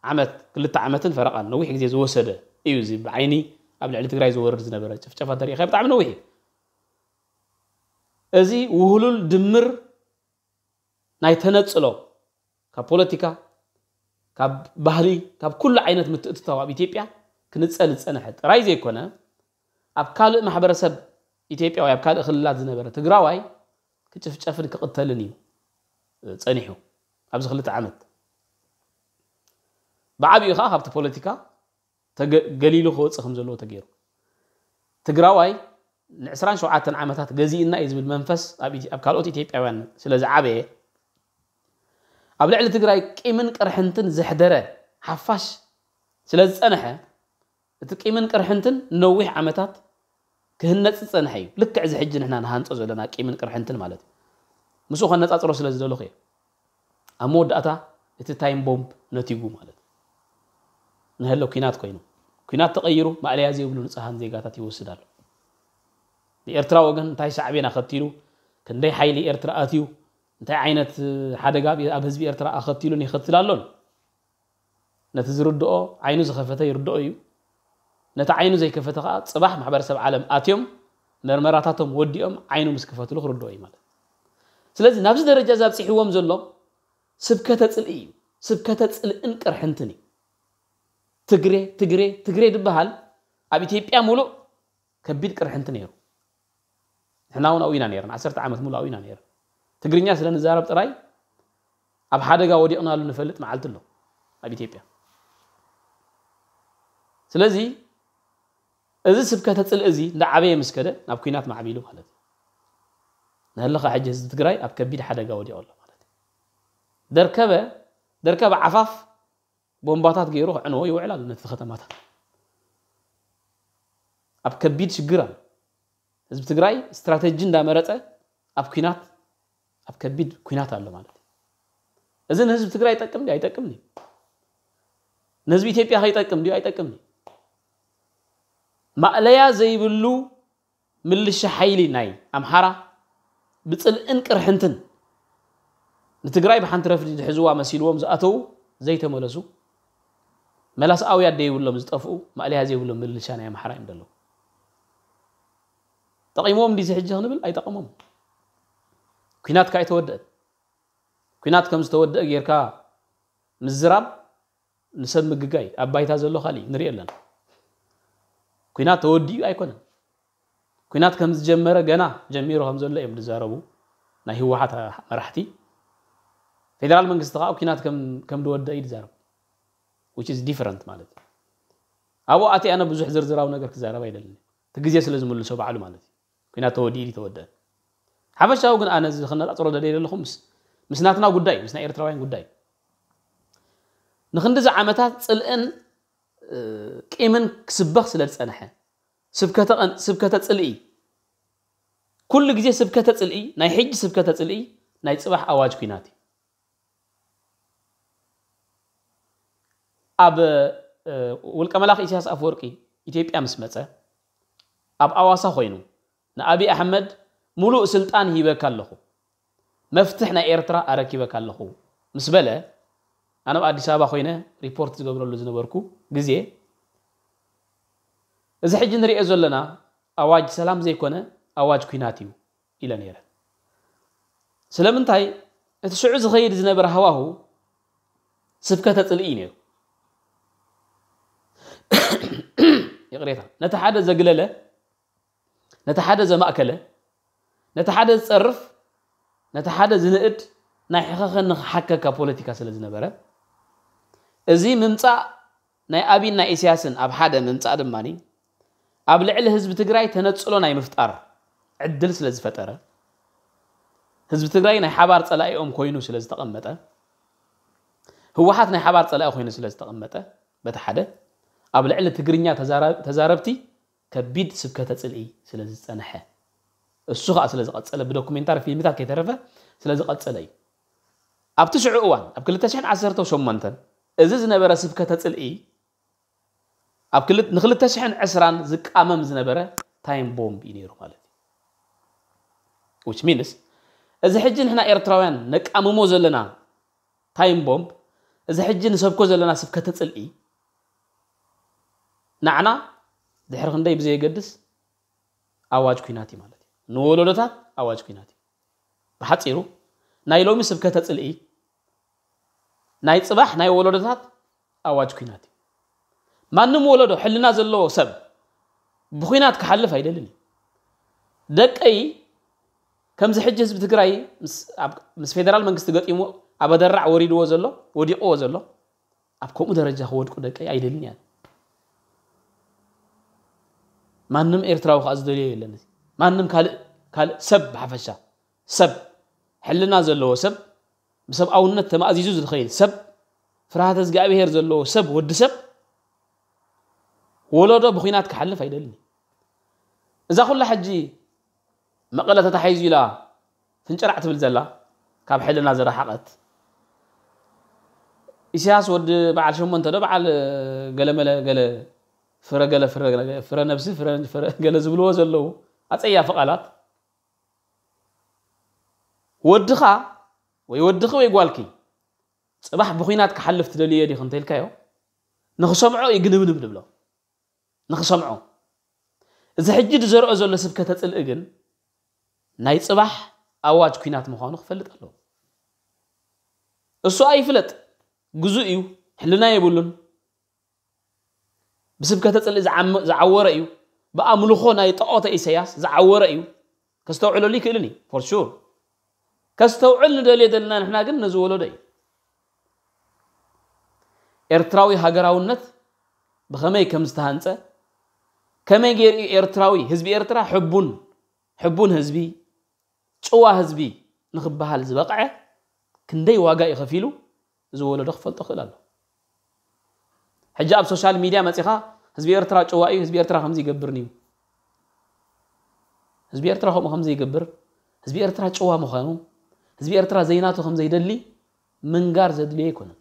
ዓመት ክልተ ዓመትን ፈረቓን ነዊሕ ግዜ ዝወሰደ እዩ እዚ ብዓይኒ ኣብ ልዕሊ ትግራይ ዝወርድ ዝነበረ ጭፍጨፋ እንተሪኢኻ ብጣዕሚ ነዊሕ እዩ እዚ ውህሉል ድምር ናይ ተነፅሎ ካብ ፖለቲካ ካብ ባህሊ ካብ ኩሉ ዓይነት ምትእትታው ኣብ ኢትዮጵያ ክንፀል ዝፀንሐ ጥራይ ዘይኮነ ኣብ ካልእ ማሕበረሰብ ኢትዮጵያ ወይ ኣብ ካልእ ክልላት ዝነበረ ትግራዋይ ክጭፍጨፍን ክቕተልን እዩ ፀኒሑ ኣብዚ ክልተ ዓመት ብዓብኡ ከዓ ካብቲ ፖለቲካ ገሊሉ ክወፅእ ከም ዘለዎ ተገይሩ ትግራዋይ ን27 ዓመታት ገዚእና እዩ ዝብል መንፈስ ኣብ ካልኦት ኢትዮጵያውያን ስለ ዝዓበየ ኣብ ልዕሊ ትግራይ ቂምን ቅርሕንትን ዘሕደረ ሓፋሽ ስለ ዝፀንሐ እቲ ቂምን ቅርሕንትን ነዊሕ ዓመታት ክህነፅ ዝፀንሐ እዩ ልክዕ እዚ ሕጂ ንሕና ንሃንፆ ዘለና ቂምን ቅርሕንትን ማለት እዩ ምስኡ ከነፃፅሮ ስለ ዝደለኹ እየ ኣብ መወዳእታ እቲ ታይም ቦምብ ነቲጉ ማለት ንሀሎ ኲናት ኮይኑ ኲናት ተቐይሩ ማእለያ ዘይብሉ ንፅሃን ዜጋታት ይወስድ ኣሎ ብኤርትራ ወገን እንታይ ሳዕቤን ኣኸቲሉ ክንደይ ሓይሊ ኤርትራ ኣትዩ እንታይ ዓይነት ሓደጋ ኣብ ህዝቢ ኤርትራ ኣኸቲሉን ይኸትል ኣሎን ነቲ ዝርድኦ ዓይኑ ዝኸፈተ ይርድኦ እዩ ነቲ ዓይኑ ዘይከፈተ ከዓ ፅባሕ ማሕበረሰብ ዓለም ኣትዮም መርመራታቶም ወዲኦም ዓይኑ ምስ ክፈትሉ ክርድኦ እዩ ማለት ስለዚ ናብዚ ደረጃ እዚ ኣብፅሕዎም ዘሎ ስብከተ ፅልኢ እዩ ስብከተ ፅልእን ቅርሕንትን እዩ ትግሬ ትግሬ ትግሬ ዝበሃል ኣብ ኢትዮጵያ ሙሉእ ከቢድ ቅርሕንቲ ነይሩ ንሕና እውን ኣብኡ ኢና ነርና ዓሰርተ ዓመት ሙሉእ ኣብኡ ኢና ነርና ትግርኛ ስለ ንዛረብ ጥራይ ኣብ ሓደጋ ወዲቕናሉ ንፈልጥ መዓልቲ ኣሎ ኣብ ኢትዮጵያ ስለዚ እዚ ስብከተ ፅልኢ እዚ እንዳዓበየ ምስ ከደ ናብ ኲናት ማዕቢሉ ማለት እዩ ንህልኻ ሕጂ ህዝቢ ትግራይ ኣብ ከቢድ ሓደጋ ወዲቑ ኣሎ ማለት እዩ። ደርከበ ደርከበ ዓፋፍ ቦምባታት ገይሩ ክዕንዎ ይውዕል ኣሎ ነቲ ከተማታት። ኣብ ከቢድ ሽግር ኣሎ። ህዝቢ ትግራይ ስትራተጂ እንዳመረፀ ኣብ ኲናት ኣብ ከቢድ ኲናት ኣሎ ማለት እዩ። እዚ ንህዝቢ ትግራይ ይጠቅም ድዩ ኣይጠቅምን እዩ? ንህዝቢ ኢትዮጵያ ከይጠቅም ድዩ ኣይጠቅምን እዩ? ማእለያ ዘይብሉ ምልሻ ሓይሊ ናይ ኣምሓራ ብፅልእን ቅርሕንትን ንትግራይ ብሓንቲ ረፍዲ ዝሕዝዋ መሲልዎም ዝኣተዉ ዘይተመለሱ መላስ ኣውያት ደይብሎም ዝጠፍኡ ማእለያ ዘይብሎም ምልሻ ናይ ኣምሓራ እዮም ዘለዉ። ጠቒሞም እንዲዚ ሕጂ ክንብል ኣይጠቐሞም። ኲናት ከኣ ኣይተወደአን። ኲናት ከም ዝተወደአ ጌርካ ምዝራብ ንሰብ ምግጋይ ኣብ ባይታ ዘሎ ካልእ ንሪኦ ኣለና። ኲናት ተወዲኡ ኣይኮነን። ኲናት ከም ዝጀመረ ገና ጀሚሩ ከም ዘሎ እዮም ዝዛረቡ ናይ ህወሓት መራሕቲ። ፌደራል መንግስቲ ከዓ ኲናት ከም ከም ዝወደአ እዩ ዝዛረብ። Which is different ማለት እዩ። ኣብኡ ኣቲ ኣነ ብዙሕ ዝርዝራዊ ነገር ክዛረብ ኣይደልን። እቲ ግዜ ስለ ዝምልሶ ባዕሉ ማለት እዩ። ኲናት ተወዲኡ ድዩ ተወደአ? ሓፈሻዊ ግን ኣነ እዚ ክነጻጽሮ ደልየ ዘለኹ ምስ ምስ ናትና ጉዳይ ምስ ናይ ኤርትራውያን ጉዳይ ንክንድዚ ዓመታት ፅልእን ቂምን ክስበኽ ስለ ዝፀንሐ ስብከተ ጽልኢ ኩሉ ግዜ ስብከተ ጽልኢ ናይ ሕጂ ስብከተ ጽልኢ ናይ ጽባሕ ኣዋጅ ኲናት እዩ። ኣብ ውልቀ መላኽ ኢሳያስ ኣፈወርቂ ኢትዮጵያ ምስ መጸ ኣብ ኣዋሳ ኮይኑ ንኣብይ ኣሕመድ ሙሉእ ስልጣን ሂበካ ኣለኹ መፍትሕ ናይ ኤርትራ ኣረኪበካ ኣለኹ ምስ በለ ኣነ ኣብ ኣዲስ ኣበባ ኮይነ ሪፖርት ዝገብረሉ ዝነበርኩ ግዜ እዚ ሕጂ ንሪኦ ዘለና ኣዋጅ ሰላም ዘይኮነ ኣዋጅ ኲናት እዩ ኢለ ነይረ። ስለምንታይ እቲ ሽዑ ዝኸይድ ዝነበረ ሃዋሁ ስብከተ ጽልኢ እዩ ነይሩ። ይቕሬታ ነቲ ሓደ ዘግለለ ነቲ ሓደ ዘማእከለ ነቲ ሓደ ዝጸርፍ ነቲ ሓደ ዝንእድ ናይ ሕኸኸኒ ክሓከካ ፖለቲካ ስለ ዝነበረ እዚ ምምጻእ ናይ ኣብይን ናይ ኢሳያስን ኣብ ሓደ ምምጻእ ድማ ኣብ ልዕሊ ህዝቢ ትግራይ ተነጽሎ ናይ ምፍጣር ዕድል ስለ ዝፈጠረ ህዝቢ ትግራይ ናይ ሓባር ጸላኢኦም ኮይኑ ስለ ዝተቐመጠ ህወሓት ናይ ሓባር ጸላኢ ኮይኑ ስለ ዝተቐመጠ በቲ ሓደ ኣብ ልዕሊ ትግርኛ ተዛረብቲ ከቢድ ስብከተ ጽልኢ ስለ ዝጸንሐ እሱ ከዓ ስለ ዝቐጸለ ብዶኩሜንታሪ ፊልምታት ከይተረፈ ስለ ዝቐጸለ እዩ። ኣብቲ ሽዑ እዋን ኣብ ክልተ ሽሕን ዓሰርተ ሸሞንተን እዚ ዝነበረ ስብከተ ጽልኢ ኣብ ክል- ንክልተ ሽሕን ዕስራን ዝቃመም ዝነበረ ታይም ቦምብ እዩ ነይሩ ማለት እዩ። Which means እዚ ሕጂ ንሕና ኤርትራውያን ነቃምሞ ዘለና ታይም ቦምብ እዚ ሕጂ ንሰብኮ ዘለና ስብከተ ጽልኢ ንዓና ድሕሪ ክንደይ ብዘየገድስ ኣዋጅ ኲናት እዩ ማለት እዩ። ንወለዶታት ኣዋጅ ኲናት እዩ። ብሓፂሩ ናይ ሎሚ ስብከተ ጽልኢ ናይ ጽባሕ ናይ ወለዶታት ኣዋጅ ኲናት እዩ። ማንም ወለዶ ሕልና ዘለዎ ሰብ ብኲናት ክሓልፍ ኣይደልን እዩ። ደቀይ ከምዚ ሕጂ ህዝቢ ትግራይ ምስ ፌደራል መንግስቲ ገጢሙ ኣብ ኣደራዕ ወሪድዎ ዘሎ ወዲቕዎ ዘሎ ኣብ ከምኡ ደረጃ ክወድቁ ደቀይ ኣይደልን እያን። ማንም ኤርትራዊ ከዓ ዝደልዮ የለን። ማንም ካልእ ካልእ ሰብ ብሓፈሻ ሰብ ሕልና ዘለዎ ሰብ ብሰብኣውነት ተማእዚዙ ዝኸይድ ሰብ ፍርሃተ እግዚኣብሄር ዘለዎ ሰብ ወዲ ሰብ ወለዶ ብኹናት ክሓልፍ ኣይደልን። እዛ ኩላ ሕጂ መቐለ ተታሒዙ ኢላ ፍንጭራዕ ትብል ዘላ ካብ ሕልና ዝረሓቐት ኢሳያስ ወዲ በዓል ሸሞንተ ዶ በዓል ገለመለ ገለ ፍረ ገለ ፍረ ገለ ፍረ ነብሲ ፍረ ፍረ ገለ ዝብልዎ ዘለዉ ኣጸያፊ ቃላት ወድኻ ወይ ወድኺ ወይ ጓልኪ ጽባሕ ብኹናት ክሓልፍ ትደልዮ ዲኺ እንተኢልካዮ ንኽሰምዖ እዩ ግንብንብ ዝብሎ ንኽሰምዖ እዚ ሕጂ ዝዘርኦ ዘሎ ስብከተ ጽልኢ ግን ናይ ጽባሕ ኣዋጅ ኲናት ምዃኑ ክፈልጥ ኣለዎ። እሱ ኣይፍለጥ ግዙእ እዩ ሕልና የብሉን ብስብከተ ጽልኢ ዝዓመ- ዝዓወረ እዩ ብኣምልኾ ናይ ጠቖተ ኢሳያስ ዝዓወረ እዩ ከስተውዕለሉ ይክእልን እዩ for sure ከስተውዕል ንደልዮ ዘለና ንሕና ግን ነዚ ወለዶ እዩ ኤርትራዊ ሃገራውነት ብኸመይ ከም ዝተሃንጸ ከመይ ገይሩ እዩ ኤርትራዊ ህዝቢ ኤርትራ ሕቡን ሕቡን ህዝቢ ጭዋ ህዝቢ ንኽበሃል ዝበቕዐ ክንደይ ዋጋ እዩ ከፊሉ፣ እዚ ወለዶ ክፈልጦ ክእል ኣሎ። ሕጂ ኣብ ሶሻል ሚድያ መፂኻ ህዝቢ ኤርትራ ጭዋ እዩ፣ ህዝቢ ኤርትራ ከምዚ ይገብርን እዩ፣ ህዝቢ ኤርትራ ከምኡ ከምዚ ይገብር፣ ህዝቢ ኤርትራ ጭዋ ምዃኑ፣ ህዝቢ ኤርትራ ዘይናቱ ከም ዘይደሊ ምንጋር ዘድልዮ ኣይኮነን።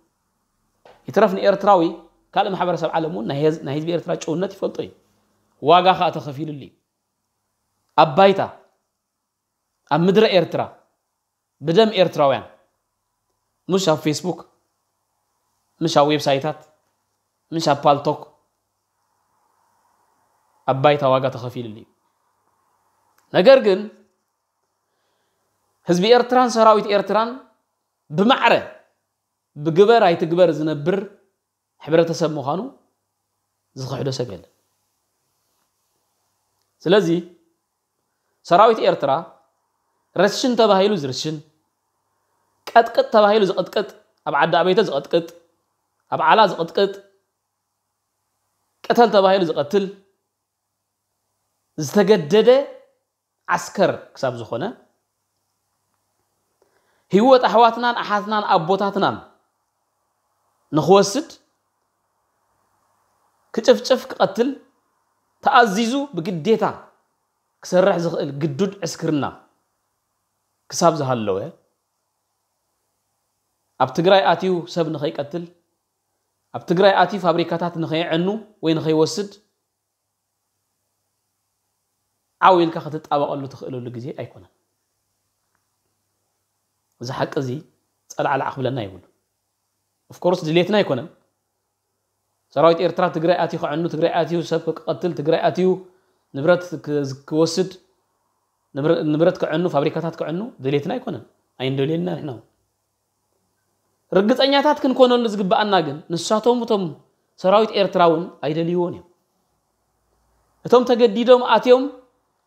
ይትረፍ ንኤርትራዊ፣ ካልእ ማሕበረሰብ ዓለም እውን ናይ ህዝ- ናይ ህዝቢ ኤርትራ ጭውነት ይፈልጦ እዩ። ዋጋ ከዓ ተኸፊሉሉ እዩ። ኣብ ባይታ፣ ኣብ ምድረ ኤርትራ፣ ብደም ኤርትራውያን፣ ምሽ ኣብ ፌስቡክ፣ ምሽ ኣብ ዌብሳይታት፣ ምሽ ኣብ ፓልቶክ፣ ኣብ ባይታ ዋጋ ተኸፊሉሉ እዩ። ነገር ግን ህዝቢ ኤርትራን ሰራዊት ኤርትራን ብማዕረ ብግበር ኣይትግበር ዝነብር ሕብረተሰብ ምዃኑ ዝኽሕዶ ሰብ የለን። ስለዚ ሰራዊት ኤርትራ ረሽን ተባሂሉ ዝርሽን፣ ቀጥቅጥ ተባሂሉ ዝቕጥቅጥ፣ ኣብ ዓዲ ኣበይቶ ዝቐጥቅጥ፣ ኣብ ዓላ ዝቕጥቅጥ፣ ቅተል ተባሂሉ ዝቐትል፣ ዝተገደደ ዓስከር ክሳብ ዝኾነ፣ ህይወት ኣሕዋትናን ኣሓትናን ኣቦታትናን ንኽወስድ፣ ክጭፍጭፍ፣ ክቐትል፣ ተኣዚዙ ብግዴታ ክሰርሕ ዝኽእል ግዱድ ዕስክርና ክሳብ ዝሃለወ፣ ኣብ ትግራይ ኣትዩ ሰብ ንኸይቀትል፣ ኣብ ትግራይ ኣትዩ ፋብሪካታት ንኸየዕኑ ወይ ንኸይወስድ፣ ዓው ኢልካ ክትጣበቐሉ ትኽእለሉ ግዜ ኣይኮነን። እዚ ሓቂ እዚ ጸላዕላዕ ክብለና ይብሉ። ኦፍኮርስ ድሌትና ኣይኮነን። ሰራዊት ኤርትራ ትግራይ ኣትዩ ክዕኑ፣ ትግራይ ኣትዩ ሰብ ክቐትል፣ ትግራይ ኣትዩ ንብረት ክ- ክወስድ፣ ንብረ- ንብረት ክዕኑ፣ ፋብሪካታት ክዕኑ ድሌትና ኣይኮነን። ኣይንደልየልና ንሕና እውን። ርግጸኛታት ክንኮነሉ ዝግብኣና ግን ንሳቶም እቶም ሰራዊት ኤርትራ እውን ኣይደልይዎን እዮም። እቶም ተገዲዶም ኣትዮም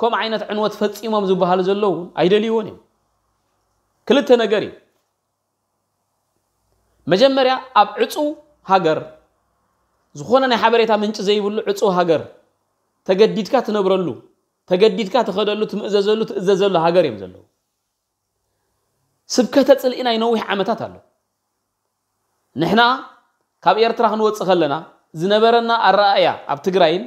ከምኡ ዓይነት ዕንወት ፈጺሞም ዝበሃሉ ዘለዉ እውን ኣይደልይዎን እዮም። ክልተ ነገር እዩ። መጀመርያ ኣብ ዕጹው ሃገር፣ ዝኾነ ናይ ሓበሬታ ምንጪ ዘይብሉ ዕጹው ሃገር፣ ተገዲድካ ትነብረሉ፣ ተገዲድካ ትኸደሉ፣ ትምእዘዘሉ፣ ትእዘዘሉ ሃገር እዮም ዘለዉ። ስብከተ ጽልኢ ናይ ነዊሕ ዓመታት ኣሎ። ንሕና ካብ ኤርትራ ክንወጽእ ከለና ዝነበረና ኣረኣእያ ኣብ ትግራይን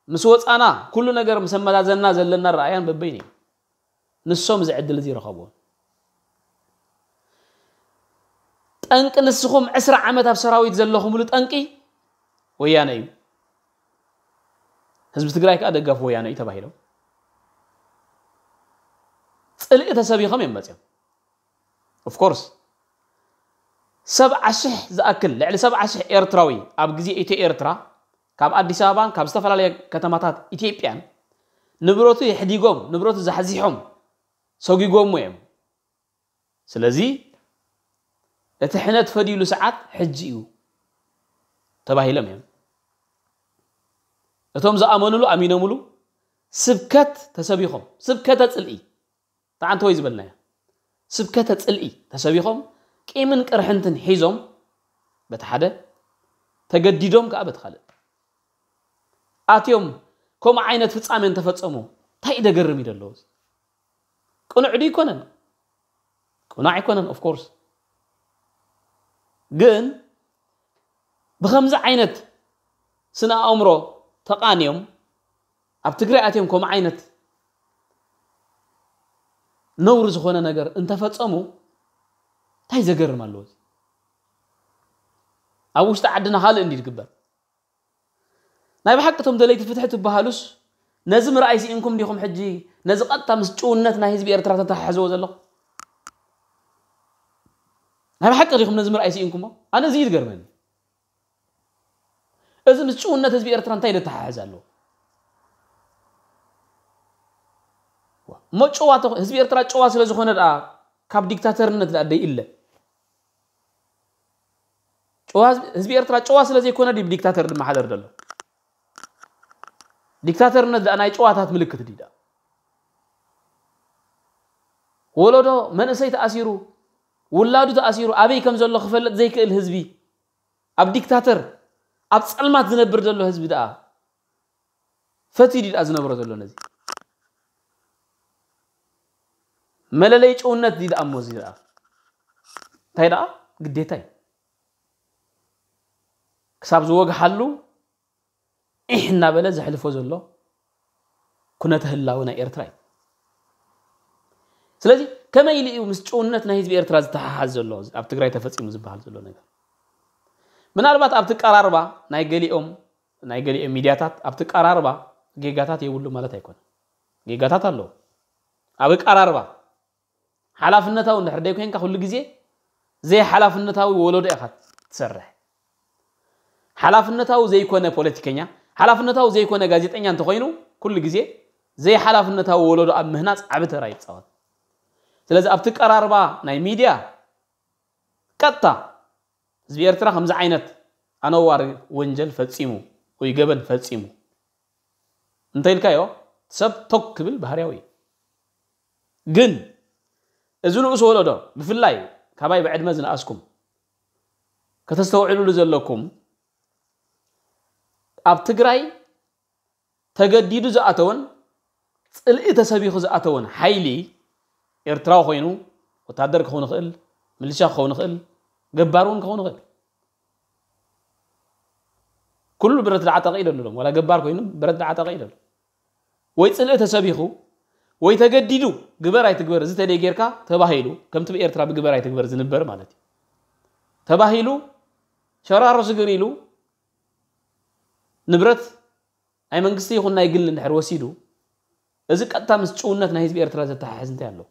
ምስ ወጻና ኩሉ ነገር ምስ ኣመዛዘንና ዘለና ኣረኣእያን በበይኑ እዩ። ንሶም እዚ ዕድል እዚ ይረኸብዎ። ጠንቂ ንስኹም ዕስራ ዓመት ኣብ ሰራዊት ዘለኹምሉ ጠንቂ ወያነ እዩ። ህዝቢ ትግራይ ከዓ ደጋፊ ወያነ እዩ ተባሂሎም ጽልኢ ተሰቢኾም እዮም መፅዮም። ኦፍኮርስ ሰብዓ ሽሕ ዝኣክል፣ ልዕሊ ሰብዓ ሽሕ ኤርትራዊ ኣብ ግዜ ኢትዮ ኤርትራ ካብ ኣዲስ ኣበባን ካብ ዝተፈላለየ ከተማታት ኢትዮጵያን ንብረቱ የሕዲጎም፣ ንብረቱ ዛሕዚሖም ሰጒጎሞ እዮም። ስለዚ እቲ ሕነ ትፈድይሉ ሰዓት ሕጂ እዩ ተባሂሎም እዮም። እቶም ዝኣመኑሉ ኣሚኖምሉ ስብከት ተሰቢኾም፣ ስብከተ ጽልኢ ተዓንተ ወይ ዝበልናዮ ስብከተ ጽልኢ ተሰቢኾም ቂምን ቅርሕንትን ሒዞም በቲ ሓደ ተገዲዶም ከዓ በቲ ካልእ ኣትዮም ከምኡ ዓይነት ፍጻሜ እንተፈጸሙ እንታይ ደገርም እዩ ደለዎ? ቅኑዕ ዱ ይኮነን? ቅኑዕ ኣይኮነን። ኦፍኮርስ ግን ብኸምዚ ዓይነት ስነ ኣእምሮ ተቓንዮም ኣብ ትግራይ ኣትዮም ከምኡ ዓይነት ነውሪ ዝኾነ ነገር እንተፈጸሙ እንታይ ዘገርም ኣለዎ? ኣብ ውሽጢ ዓድና ካልእ እንዲ ዝግበር ናይ ብሓቂ እቶም ደለይቲ ፍትሒ ትበሃሉስ ነዚ ምርኣይ ስኢንኩም ዲኹም? ሕጂ ነዚ ቀጥታ ምስ ጭውነት ናይ ህዝቢ ኤርትራ ተተሓሕዝዎ ዘለኹም ናይ ብሓቂ ዲኹም ነዚ ምርኣይ ስኢንኩሞ? ኣነ እዚ እዩ ዝገርመኒ። እዚ ምስ ጭውነት ህዝቢ ኤርትራ እንታይ ዘተሓሕዝ ኣለዎ? እሞ ጭዋ ተኾ- ህዝቢ ኤርትራ ጭዋ ስለ ዝኾነ ደኣ ካብ ዲክታተርነት ደኣ ደይእለ? ጭዋ ህዝቢ- ህዝቢ ኤርትራ ጭዋ ስለ ዘይኮነ ድዩ ብዲክታተር ዝመሓደር ዘሎ? ዲክታተርነት ደኣ ናይ ጭዋታት ምልክት ድዩ ደኣ? ወለዶ መንእሰይ ተኣሲሩ፣ ውላዱ ተኣሲሩ ኣበይ ከም ዘሎ ክፈልጥ ዘይክእል ህዝቢ፣ ኣብ ዲክታተር ኣብ ጸልማት ዝነብር ዘሎ ህዝቢ ደኣ ፈትዩ ድዩ ደኣ ዝነብሮ ዘሎ ነዚ? መለለይ ጭውነት እዚ ደኣ እሞ እዚ ደኣ እንታይ ደኣ ግዴታ እዩ። ክሳብ ዝወግሓሉ ኢሕ እናበለ ዘሕልፎ ዘሎ ኩነተ ህላወ ናይ ኤርትራ እዩ። ስለዚ ከመይ ኢሉ እዩ ምስ ጭውነት ናይ ህዝቢ ኤርትራ ዝተሓሓዝ ዘሎ ኣብ ትግራይ ተፈጺሙ ዝበሃል ዘሎ ነገር? ምናልባት ኣብቲ ቀራርባ ናይ ገሊኦም ናይ ገሊኦም ሚድያታት ኣብቲ ቀራርባ ጌጋታት የብሉ ማለት ኣይኮነን። ጌጋታት ኣለዎ። ኣብ ቀራርባ ሓላፍነታዊ እንድሕር ደይኮንካ ኩሉ ግዜ ዘይሓላፍነታዊ ወለዶ ኢኻ ትሰርሕ። ሓላፍነታዊ ዘይኮነ ፖለቲከኛ፣ ሓላፍነታዊ ዘይኮነ ጋዜጠኛ እንተኾይኑ ኩሉ ግዜ ዘይሓላፍነታዊ ወለዶ ኣብ ምህናፅ ዓቢ ተራ ይፃወት። ስለዚ ኣብቲ ቀራርባ ናይ ሚድያ ቀጥታ ህዝቢ ኤርትራ ከምዚ ዓይነት ኣነዋሪ ወንጀል ፈጺሙ ወይ ገበን ፈጺሙ እንተ ኢልካዮ ሰብ ቶክ ክብል ባህርያዊ እዩ። ግን እዚ ንኡስ ወለዶ ብፍላይ ካባይ ብዕድመ ዝነኣስኩም ከተስተውዕልሉ ዘለኩም ኣብ ትግራይ ተገዲዱ ዝኣተወን ጽልኢ ተሰቢኹ ዝኣተወን ሓይሊ ኤርትራዊ ኮይኑ ወታደር ክኸውን ይኽእል፣ ምልሻ ክኸውን ይኽእል፣ ገባር እውን ክኸውን ይኽእል። ኩሉ ብረት ዝዓጠቐ እዩ ደሎ፣ ዋላ ገባር ኮይኑ ብረት ዝዓጠቐ እዩ ደሎ። ወይ ጽልኢ ተሰቢኹ ወይ ተገዲዱ ግበር ኣይትግበር እዚ ተደይ ጌርካ ተባሂሉ ከምቲ ብኤርትራ ብግበር ኣይትግበር ዝንበር ማለት እዩ ተባሂሉ ሸራሮ ስግር ኢሉ ንብረት ናይ መንግስቲ ይኹን ናይ ግሊ እንድሕር ወሲዱ እዚ ቀጥታ ምስ ጭውነት ናይ ህዝቢ ኤርትራ ዘተሓሕዝ እንታይ ኣለዎ?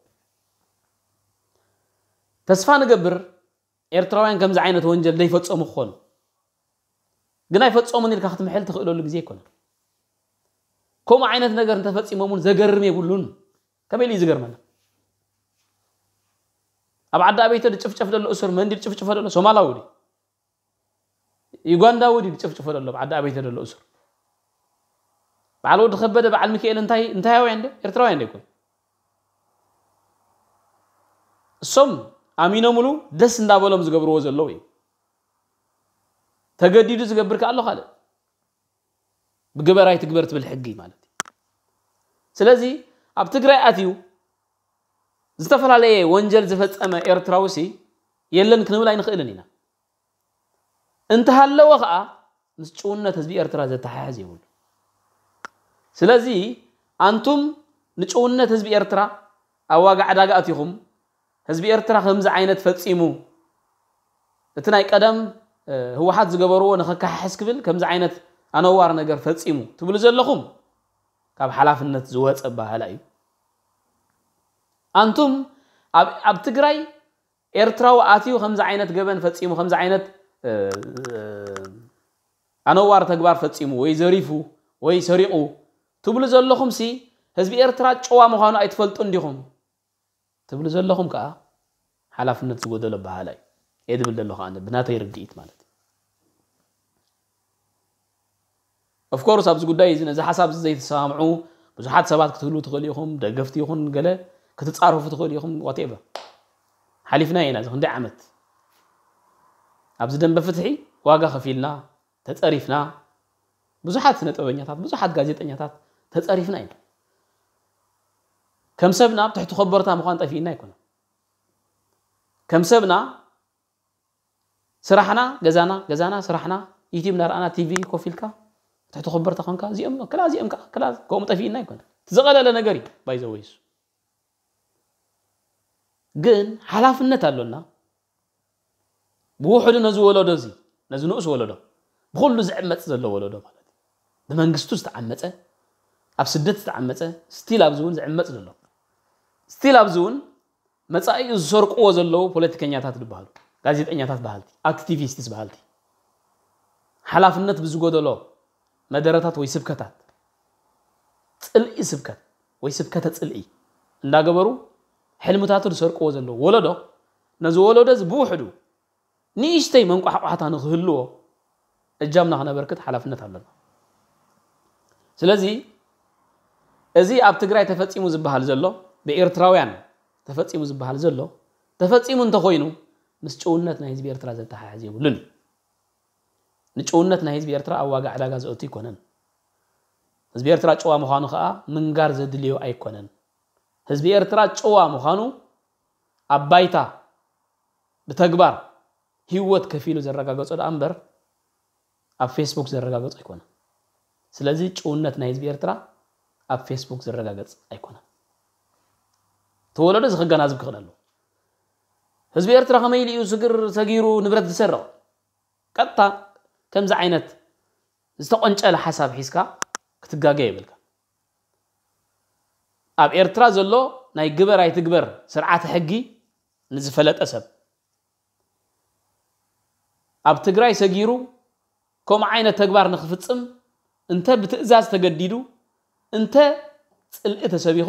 ተስፋ ንገብር ኤርትራውያን ከምዚ ዓይነት ወንጀል ዘይፈጸሙ ክኾኑ ግን ኣይፈጸሙን ኢልካ ክትምሕል ትኽእለሉ ግዜ ኣይኮነን። ከምኡ ዓይነት ነገር እንተፈጺሞም እውን ዘገርም የብሉን። ከመይ ኢሉ እዩ ዝገርመና? ኣብ ዓዲ ኣበይተ ዝጭፍጨፍ ዘሎ እሱር መንዲ ዝጭፍጭፎ ዘሎ ሶማላዊ ድዩ? ዩጋንዳዊ ድዩ ዝጭፍጭፎ ዘሎ ኣብ ዓዲ ኣበይተ ዘሎ እሱር? በዓል ወዲ ከበደ በዓል ሚካኤል እንታይ እንታያውያን ዶ ኤርትራውያን ዶ ይኮን? እሶም ኣሚኖምሉ ደስ እንዳበሎም ዝገብርዎ ዘለዉ እዩ። ተገዲዱ ዝገብር ከኣሎ ካልእ ብግበር ኣይትግበር ትብል ሕጊ ማለት እዩ። ስለዚ ኣብ ትግራይ ኣትዩ ዝተፈላለየ ወንጀል ዝፈጸመ ኤርትራዊ ሲ የለን ክንብል ኣይንኽእልን ኢና። እንተሃለወ ኸኣ ምስ ጭውነት ህዝቢ ኤርትራ ዘተሓሕዝ የብሉ። ስለዚ ኣንቱም ንጭውነት ህዝቢ ኤርትራ ኣብ ዋጋ ዕዳጋ ኣቲኹም ህዝቢ ኤርትራ ከምዚ ዓይነት ፈጺሙ እቲ ናይ ቀደም ህወሓት ዝገበርዎ ንኸካሕሕስ ክብል ከምዚ ዓይነት ኣነዋር ነገር ፈጺሙ ትብሉ ዘለኹም ካብ ሓላፍነት ዝወፀ ኣበሃህላ እዩ። ኣንቱም ኣብ ትግራይ ኤርትራዊ ኣትዩ ከምዚ ዓይነት ገበን ፈፂሙ ከምዚ ዓይነት ኣነዋር ተግባር ፈፂሙ ወይ ዘሪፉ ወይ ሰሪቑ ትብሉ ዘለኹም ሲ ህዝቢ ኤርትራ ጨዋ ምዃኑ ኣይትፈልጡ እንዲኹም ትብሉ ዘለኹም ከዓ ሓላፍነት ዝጎደሎ ኣበሃህላ እዩ። እየ ዝብል ዘለኹ ኣነ ብናተይ ርድኢት ማለት እዩ። ኦፍኮርስ ኣብዚ ጉዳይ እዚ ነዚ ሓሳብ እዚ ዘይተሰማምዑ ብዙሓት ሰባት ክትህልዉ ትኽእሉ ኢኹም። ደገፍቲ ይኹን ገለ ክትጻረፉ ትኽእሉ ኢኹም። ዋቴቨር ሓሊፍና ኢና እዚ ክንደይ ዓመት ኣብዚ ደንበ ፍትሒ ዋጋ ከፊልና ተጸሪፍና ብዙሓት ስነ ጥበበኛታት ብዙሓት ጋዜጠኛታት ተጸሪፍና ኢና። ከም ሰብና ኣብ ትሕቲ ኮቦርታ ምዃን ጠፊእና ኣይኮነን። ከም ሰብና ስራሕና ገዛና ገዛና ስራሕና ዩቲብ እናረኣና ቲቪ ኮፍ ኢልካ ትሕቲ ኮቦርታ ኮንካ እዚኦም ክላ እዚኦም ከዓ ክላ ከምኡ ጠፊእና ኣይኮነን። እቲ ዝቐለለ ነገር እዩ ባይዘወይሱ ግን ሓላፍነት ኣሎና። ብውሕዱ ነዚ ወለዶ እዚ ነዚ ንኡስ ወለዶ ብኩሉ ዝዕመፅ ዘሎ ወለዶ ማለት እዩ። ብመንግስቱ ዝተዓመፀ ኣብ ስደት ዝተዓመፀ ስቲል ኣብዚ እውን ዝዕመፅ ዘሎ ስቲል ኣብዚ እውን መፃኢኡ ዝሰርቅዎ ዘለዉ ፖለቲከኛታት ዝበሃሉ ጋዜጠኛታት በሃልቲ ኣክቲቪስትስ በሃልቲ ሓላፍነት ብዝጎደሎ መደረታት ወይ ስብከታት ፅልኢ ስብከት ወይ ስብከተ ፅልኢ እንዳገበሩ ሕልምታቱ ዝሰርቅዎ ዘለዉ ወለዶ ነዚ ወለዶ እዚ ብውሕዱ ንእሽተይ መንቋሕቋሕታ ንክህልዎ እጃምና ክነበርክት ሓላፍነት ኣለና። ስለዚ እዚ ኣብ ትግራይ ተፈፂሙ ዝበሃል ዘሎ ብኤርትራውያን ተፈፂሙ ዝበሃል ዘሎ ተፈፂሙ እንተኮይኑ ምስ ጭውነት ናይ ህዝቢ ኤርትራ ዘተሓሕዝ የብሉን። ንጭውነት ናይ ህዝቢ ኤርትራ ኣብ ዋጋ ዕዳጋ ዘእቱ ኣይኮነን። ህዝቢ ኤርትራ ጭዋ ምዃኑ ከዓ ምንጋር ዘድልዮ ኣይኮነን። ህዝቢ ኤርትራ ጭዋ ምዃኑ ኣብ ባይታ ብተግባር ህይወት ከፊሉ ዘረጋገጾ ደኣ እምበር ኣብ ፌስቡክ ዘረጋገጾ ኣይኮነን። ስለዚ ጭውነት ናይ ህዝቢ ኤርትራ ኣብ ፌስቡክ ዝረጋገጽ ኣይኮነን። እቲ ወለዶ እዚ ከገናዝብ ክኽእል ኣለዎ። ህዝቢ ኤርትራ ከመይ ኢሉ እዩ ስግር ሰጊሩ ንብረት ዝሰርቕ? ቀጥታ ከምዚ ዓይነት ዝተቆንጨለ ሓሳብ ሒዝካ ክትጋገ የብልካ። ኣብ ኤርትራ ዘሎ ናይ ግበር ኣይትግበር ስርዓተ ሕጊ ንዝፈለጠ ሰብ፣ ኣብ ትግራይ ሰጊሩ ከምኡ ዓይነት ተግባር ንክፍጽም እንተ ብትእዛዝ ተገዲዱ፣ እንተ ጽልኢ ተሰቢኹ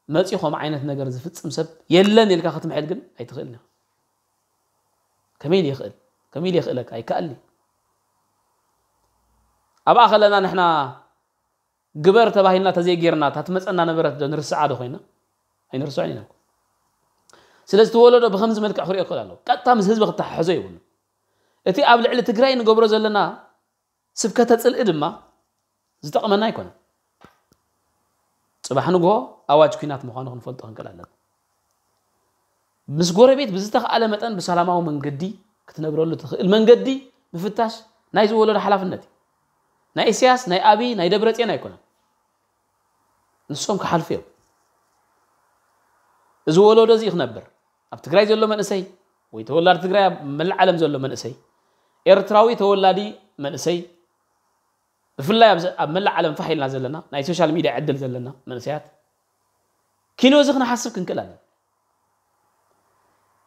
መጺኡ ከምኡ ዓይነት ነገር ዝፍጽም ሰብ የለን ኢልካ ክትምሕል ግን ኣይትኽእልን ኢኻ። ከመይ ኢሉ ይኽእል? ከመይ ኢሉ የኽእለካ? ኣይከኣልን እዩ። ኣብኣ ከለና ንሕና ግበር ተባሂልና ተዘይጌርና እታ ትመጸና ነበረት ዶ ንርስዓ ዶ ኮይና? ኣይንርስዖን ኢና እኮ። ስለዚ እቲ ወለዶ ብኸምዚ መልክዕ ክሪኦ ክኽእል ኣለዎ። ቀጥታ ምስ ህዝቢ ክተሓሕዞ የብሉ። እቲ ኣብ ልዕሊ ትግራይ ንገብሮ ዘለና ስብከተ ጽልኢ ድማ ዝጠቕመና ኣይኮነን። ጽባሕ ንግሆ ኣዋጅ ኲናት ምዃኑ ክንፈልጦ ክንክእል ኣለና። ምስ ጎረቤት ብዝተኽኣለ መጠን ብሰላማዊ መንገዲ ክትነብረሉ ትኽእል መንገዲ ምፍታሽ ናይ ዝወለዶ ሓላፍነት እዩ። ናይ ኢሳያስ፣ ናይ ኣብይ፣ ናይ ደብረጽዮን ኣይኮነን። ንሶም ክሓልፉ እዮም። እዚ ወለዶ እዚ ክነብር ኣብ ትግራይ ዘሎ መንእሰይ ወይ ተወላዲ ትግራይ ኣብ መላእ ዓለም ዘሎ መንእሰይ ኤርትራዊ ተወላዲ መንእሰይ ብፍላይ ኣብዚ ኣብ መላእ ዓለም ፋሕ ኢልና ዘለና ናይ ሶሻል ሚድያ ዕድል ዘለና መንእሰያት ኪንዮ እዚ ክንሓስብ ክንክእል ኣለና።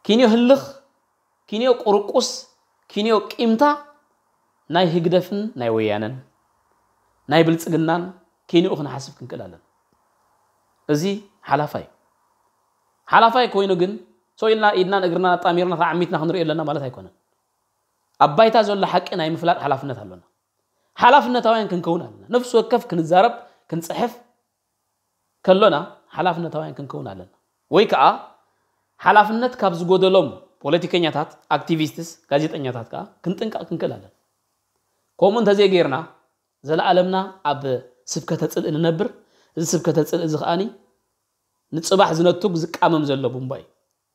ኪንዮ ህልኽ፣ ኪንዮ ቁርቁስ፣ ኪንዮ ቂምታ ናይ ህግደፍን ናይ ወያነን ናይ ብልጽግናን ኪንኡ ክንሓስብ ክንክእል ኣለና። እዚ ሓላፋይ እዩ። ሓላፋይ ኮይኑ ግን ሰው ኢልና ኢድናን እግርናን ኣጣሚርና ተዓሚትና ክንሪኦ ኣለና ማለት ኣይኮነን። ኣብ ባይታ ዘሎ ሓቂ ናይ ምፍላጥ ሓላፍነት ኣሎና። ሓላፍነታውያን ክንከውን ኣለና። ነፍሲ ወከፍ ክንዛረብ ክንጽሕፍ ከሎና ሓላፍነታውያን ክንከውን ኣለና። ወይ ከዓ ሓላፍነት ካብ ዝጎደሎም ፖለቲከኛታት፣ ኣክቲቪስትስ፣ ጋዜጠኛታት ከዓ ክንጥንቀቕ ክንክእል ኣለና። ከምኡ እንተዘይጌርና ዘለኣለምና ኣብ ስብከተ ጽልኢ ንነብር። እዚ ስብከተ ጽልኢ እዚ ከዓኒ ንጽባሕ ዝነቱግ ዝቃመም ዘሎ ቡምባ እዩ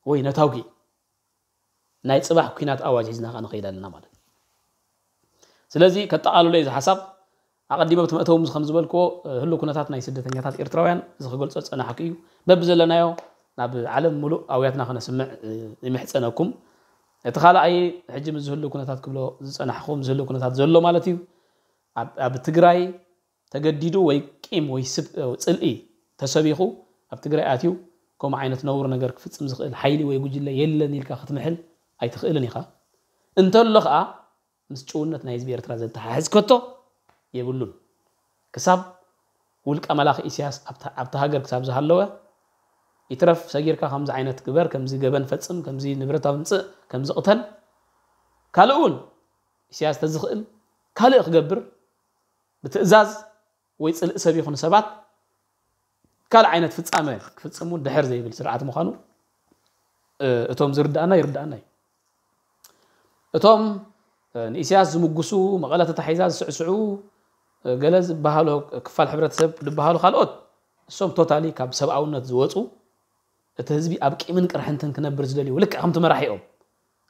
ወይ ነታጉ እዩ። ናይ ጽባሕ ኲናት ኣዋጅ ሒዝና ከዓ ንኸይድ ኣለና ማለት እዩ። ስለዚ ከጠቓልሎ እዩ እዚ ሓሳብ። ኣቐዲመ ብቲ መእተዊ ምስ ከም ዝበልክዎ ህሉ ኩነታት ናይ ስደተኛታት ኤርትራውያን እዚ ክገልጾ ዝጸናሕኩ እዩ። በብዘለናዮ ናብ ዓለም ሙሉእ ኣውያትና ክነስምዕ ይምሕጸነኩም። እቲ ካልኣይ ሕጂ ምስ ዝህሉ ኩነታት ክብሎ ዝጸናሕኹ ምስ ዝህሉ ኩነታት ዘሎ ማለት እዩ። ኣብ ትግራይ ተገዲዱ ወይ ቂም ወይ ጽልኢ ተሰቢኹ ኣብ ትግራይ ኣትዩ ከምኡ ዓይነት ነውር ነገር ክፍጽም ዝኽእል ሓይሊ ወይ ጉጅለ የለን ኢልካ ክትምሕል ኣይትኽእልን ኢኻ። እንተሎ ኸኣ ምስ ጭውነት ናይ ህዝቢ ኤርትራ ዘተሓሕዝ ከቶ የብሉን። ክሳብ ውልቀ መላኺ ኢሳያስ ኣብታ ሃገር ክሳብ ዝሃለወ ይትረፍ ሰጊርካ ከምዚ ዓይነት ግበር፣ ከምዚ ገበን ፈጽም፣ ከምዚ ንብረት ኣምጽእ፣ ከምዚ ቅተል፣ ካልእ እውን ኢሳያስ ተዝኽእል ካልእ ክገብር ብትእዛዝ ወይ ጽልኢ ሰብ ይኹን ሰባት ካልእ ዓይነት ፍጻመ ክፍጽሙ ድሕር ዘይብል ስርዓት ምዃኑ እቶም ዝርድኣና ይርድኣና እዩ። እቶም ንኢሳያስ ዝምጉሱ፣ መቐለ ተታሒዛ ዝስዕስዑ ገለ ዝበሃሉ ክፋል ሕብረተሰብ ዝበሃሉ ካልኦት እሶም ቶታሊ ካብ ሰብኣውነት ዝወፁ እቲ ህዝቢ ኣብ ቂምን ቅርሕንትን ክነብር ዝደልዩ ልክዕ ከምቲ መራሒኦም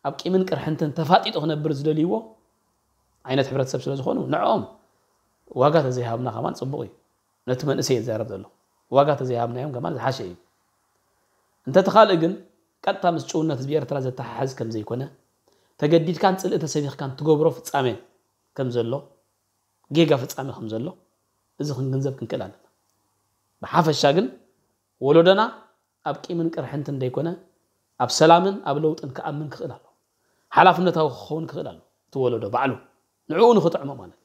ኣብ ቂምን ቅርሕንትን ተፋጢጡ ክነብር ዝደልይዎ ዓይነት ሕብረተሰብ ስለ ዝኾኑ ንዕኦም ዋጋ ተዘይሃብና ከማን ፅቡቕ እዩ። ነቲ መንእሰይ ይዛረብ ዘሎ ዋጋ ተዘይሃብናዮም ከማን ዝሓሸ እዩ። እንተቲ ካልእ ግን ቀጥታ ምስ ጭውነት ህዝቢ ኤርትራ ዘተሓሕዝ ከም ዘይኮነ ተገዲድካን ፅልኢ ተሰቢኽካን ትገብሮ ፍጻሜ ከም ዘሎ ጌጋ ፍጻሜ ከም ዘሎ እዚ ክንግንዘብ ክንክእል ኣለና። ብሓፈሻ ግን ወለዶና ኣብ ቂምን ቅርሕንትን ደይኮነ ኣብ ሰላምን ኣብ ለውጥን ክኣምን ክኽእል ኣሎ። ሓላፍነታዊ ክኸውን ክኽእል ኣሎ። እቲ ወለዶ ባዕሉ ንዕኡ ንኽጥዕሞ ማለት እዩ።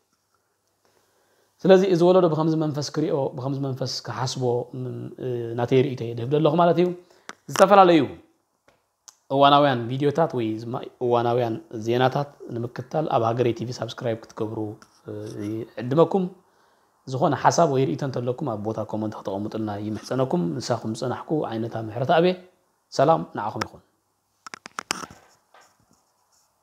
ስለዚ እዚ ወለዶ ብከምዚ መንፈስ ክሪኦ ብከምዚ መንፈስ ክሓስቦ ናተይ ርእይቶ እየ ዝህብ ዘለኹ ማለት እዩ። ዝተፈላለዩ እዋናውያን ቪድዮታት ወይ እዋናውያን ዜናታት ንምክትታል ኣብ ሃገረይ ቲቪ ሳብስክራይብ ክትገብሩ ይዕድመኩም። ዝኾነ ሓሳብ ወይ ርእይቶ እንተለኩም ኣብ ቦታ ኮመንት ክተቐምጡልና ይምሕፀነኩም። ንሳኹም ዝፀናሕኩ ዓይነታ ምሕረት ኣቤ። ሰላም ንዓኹም ይኹን።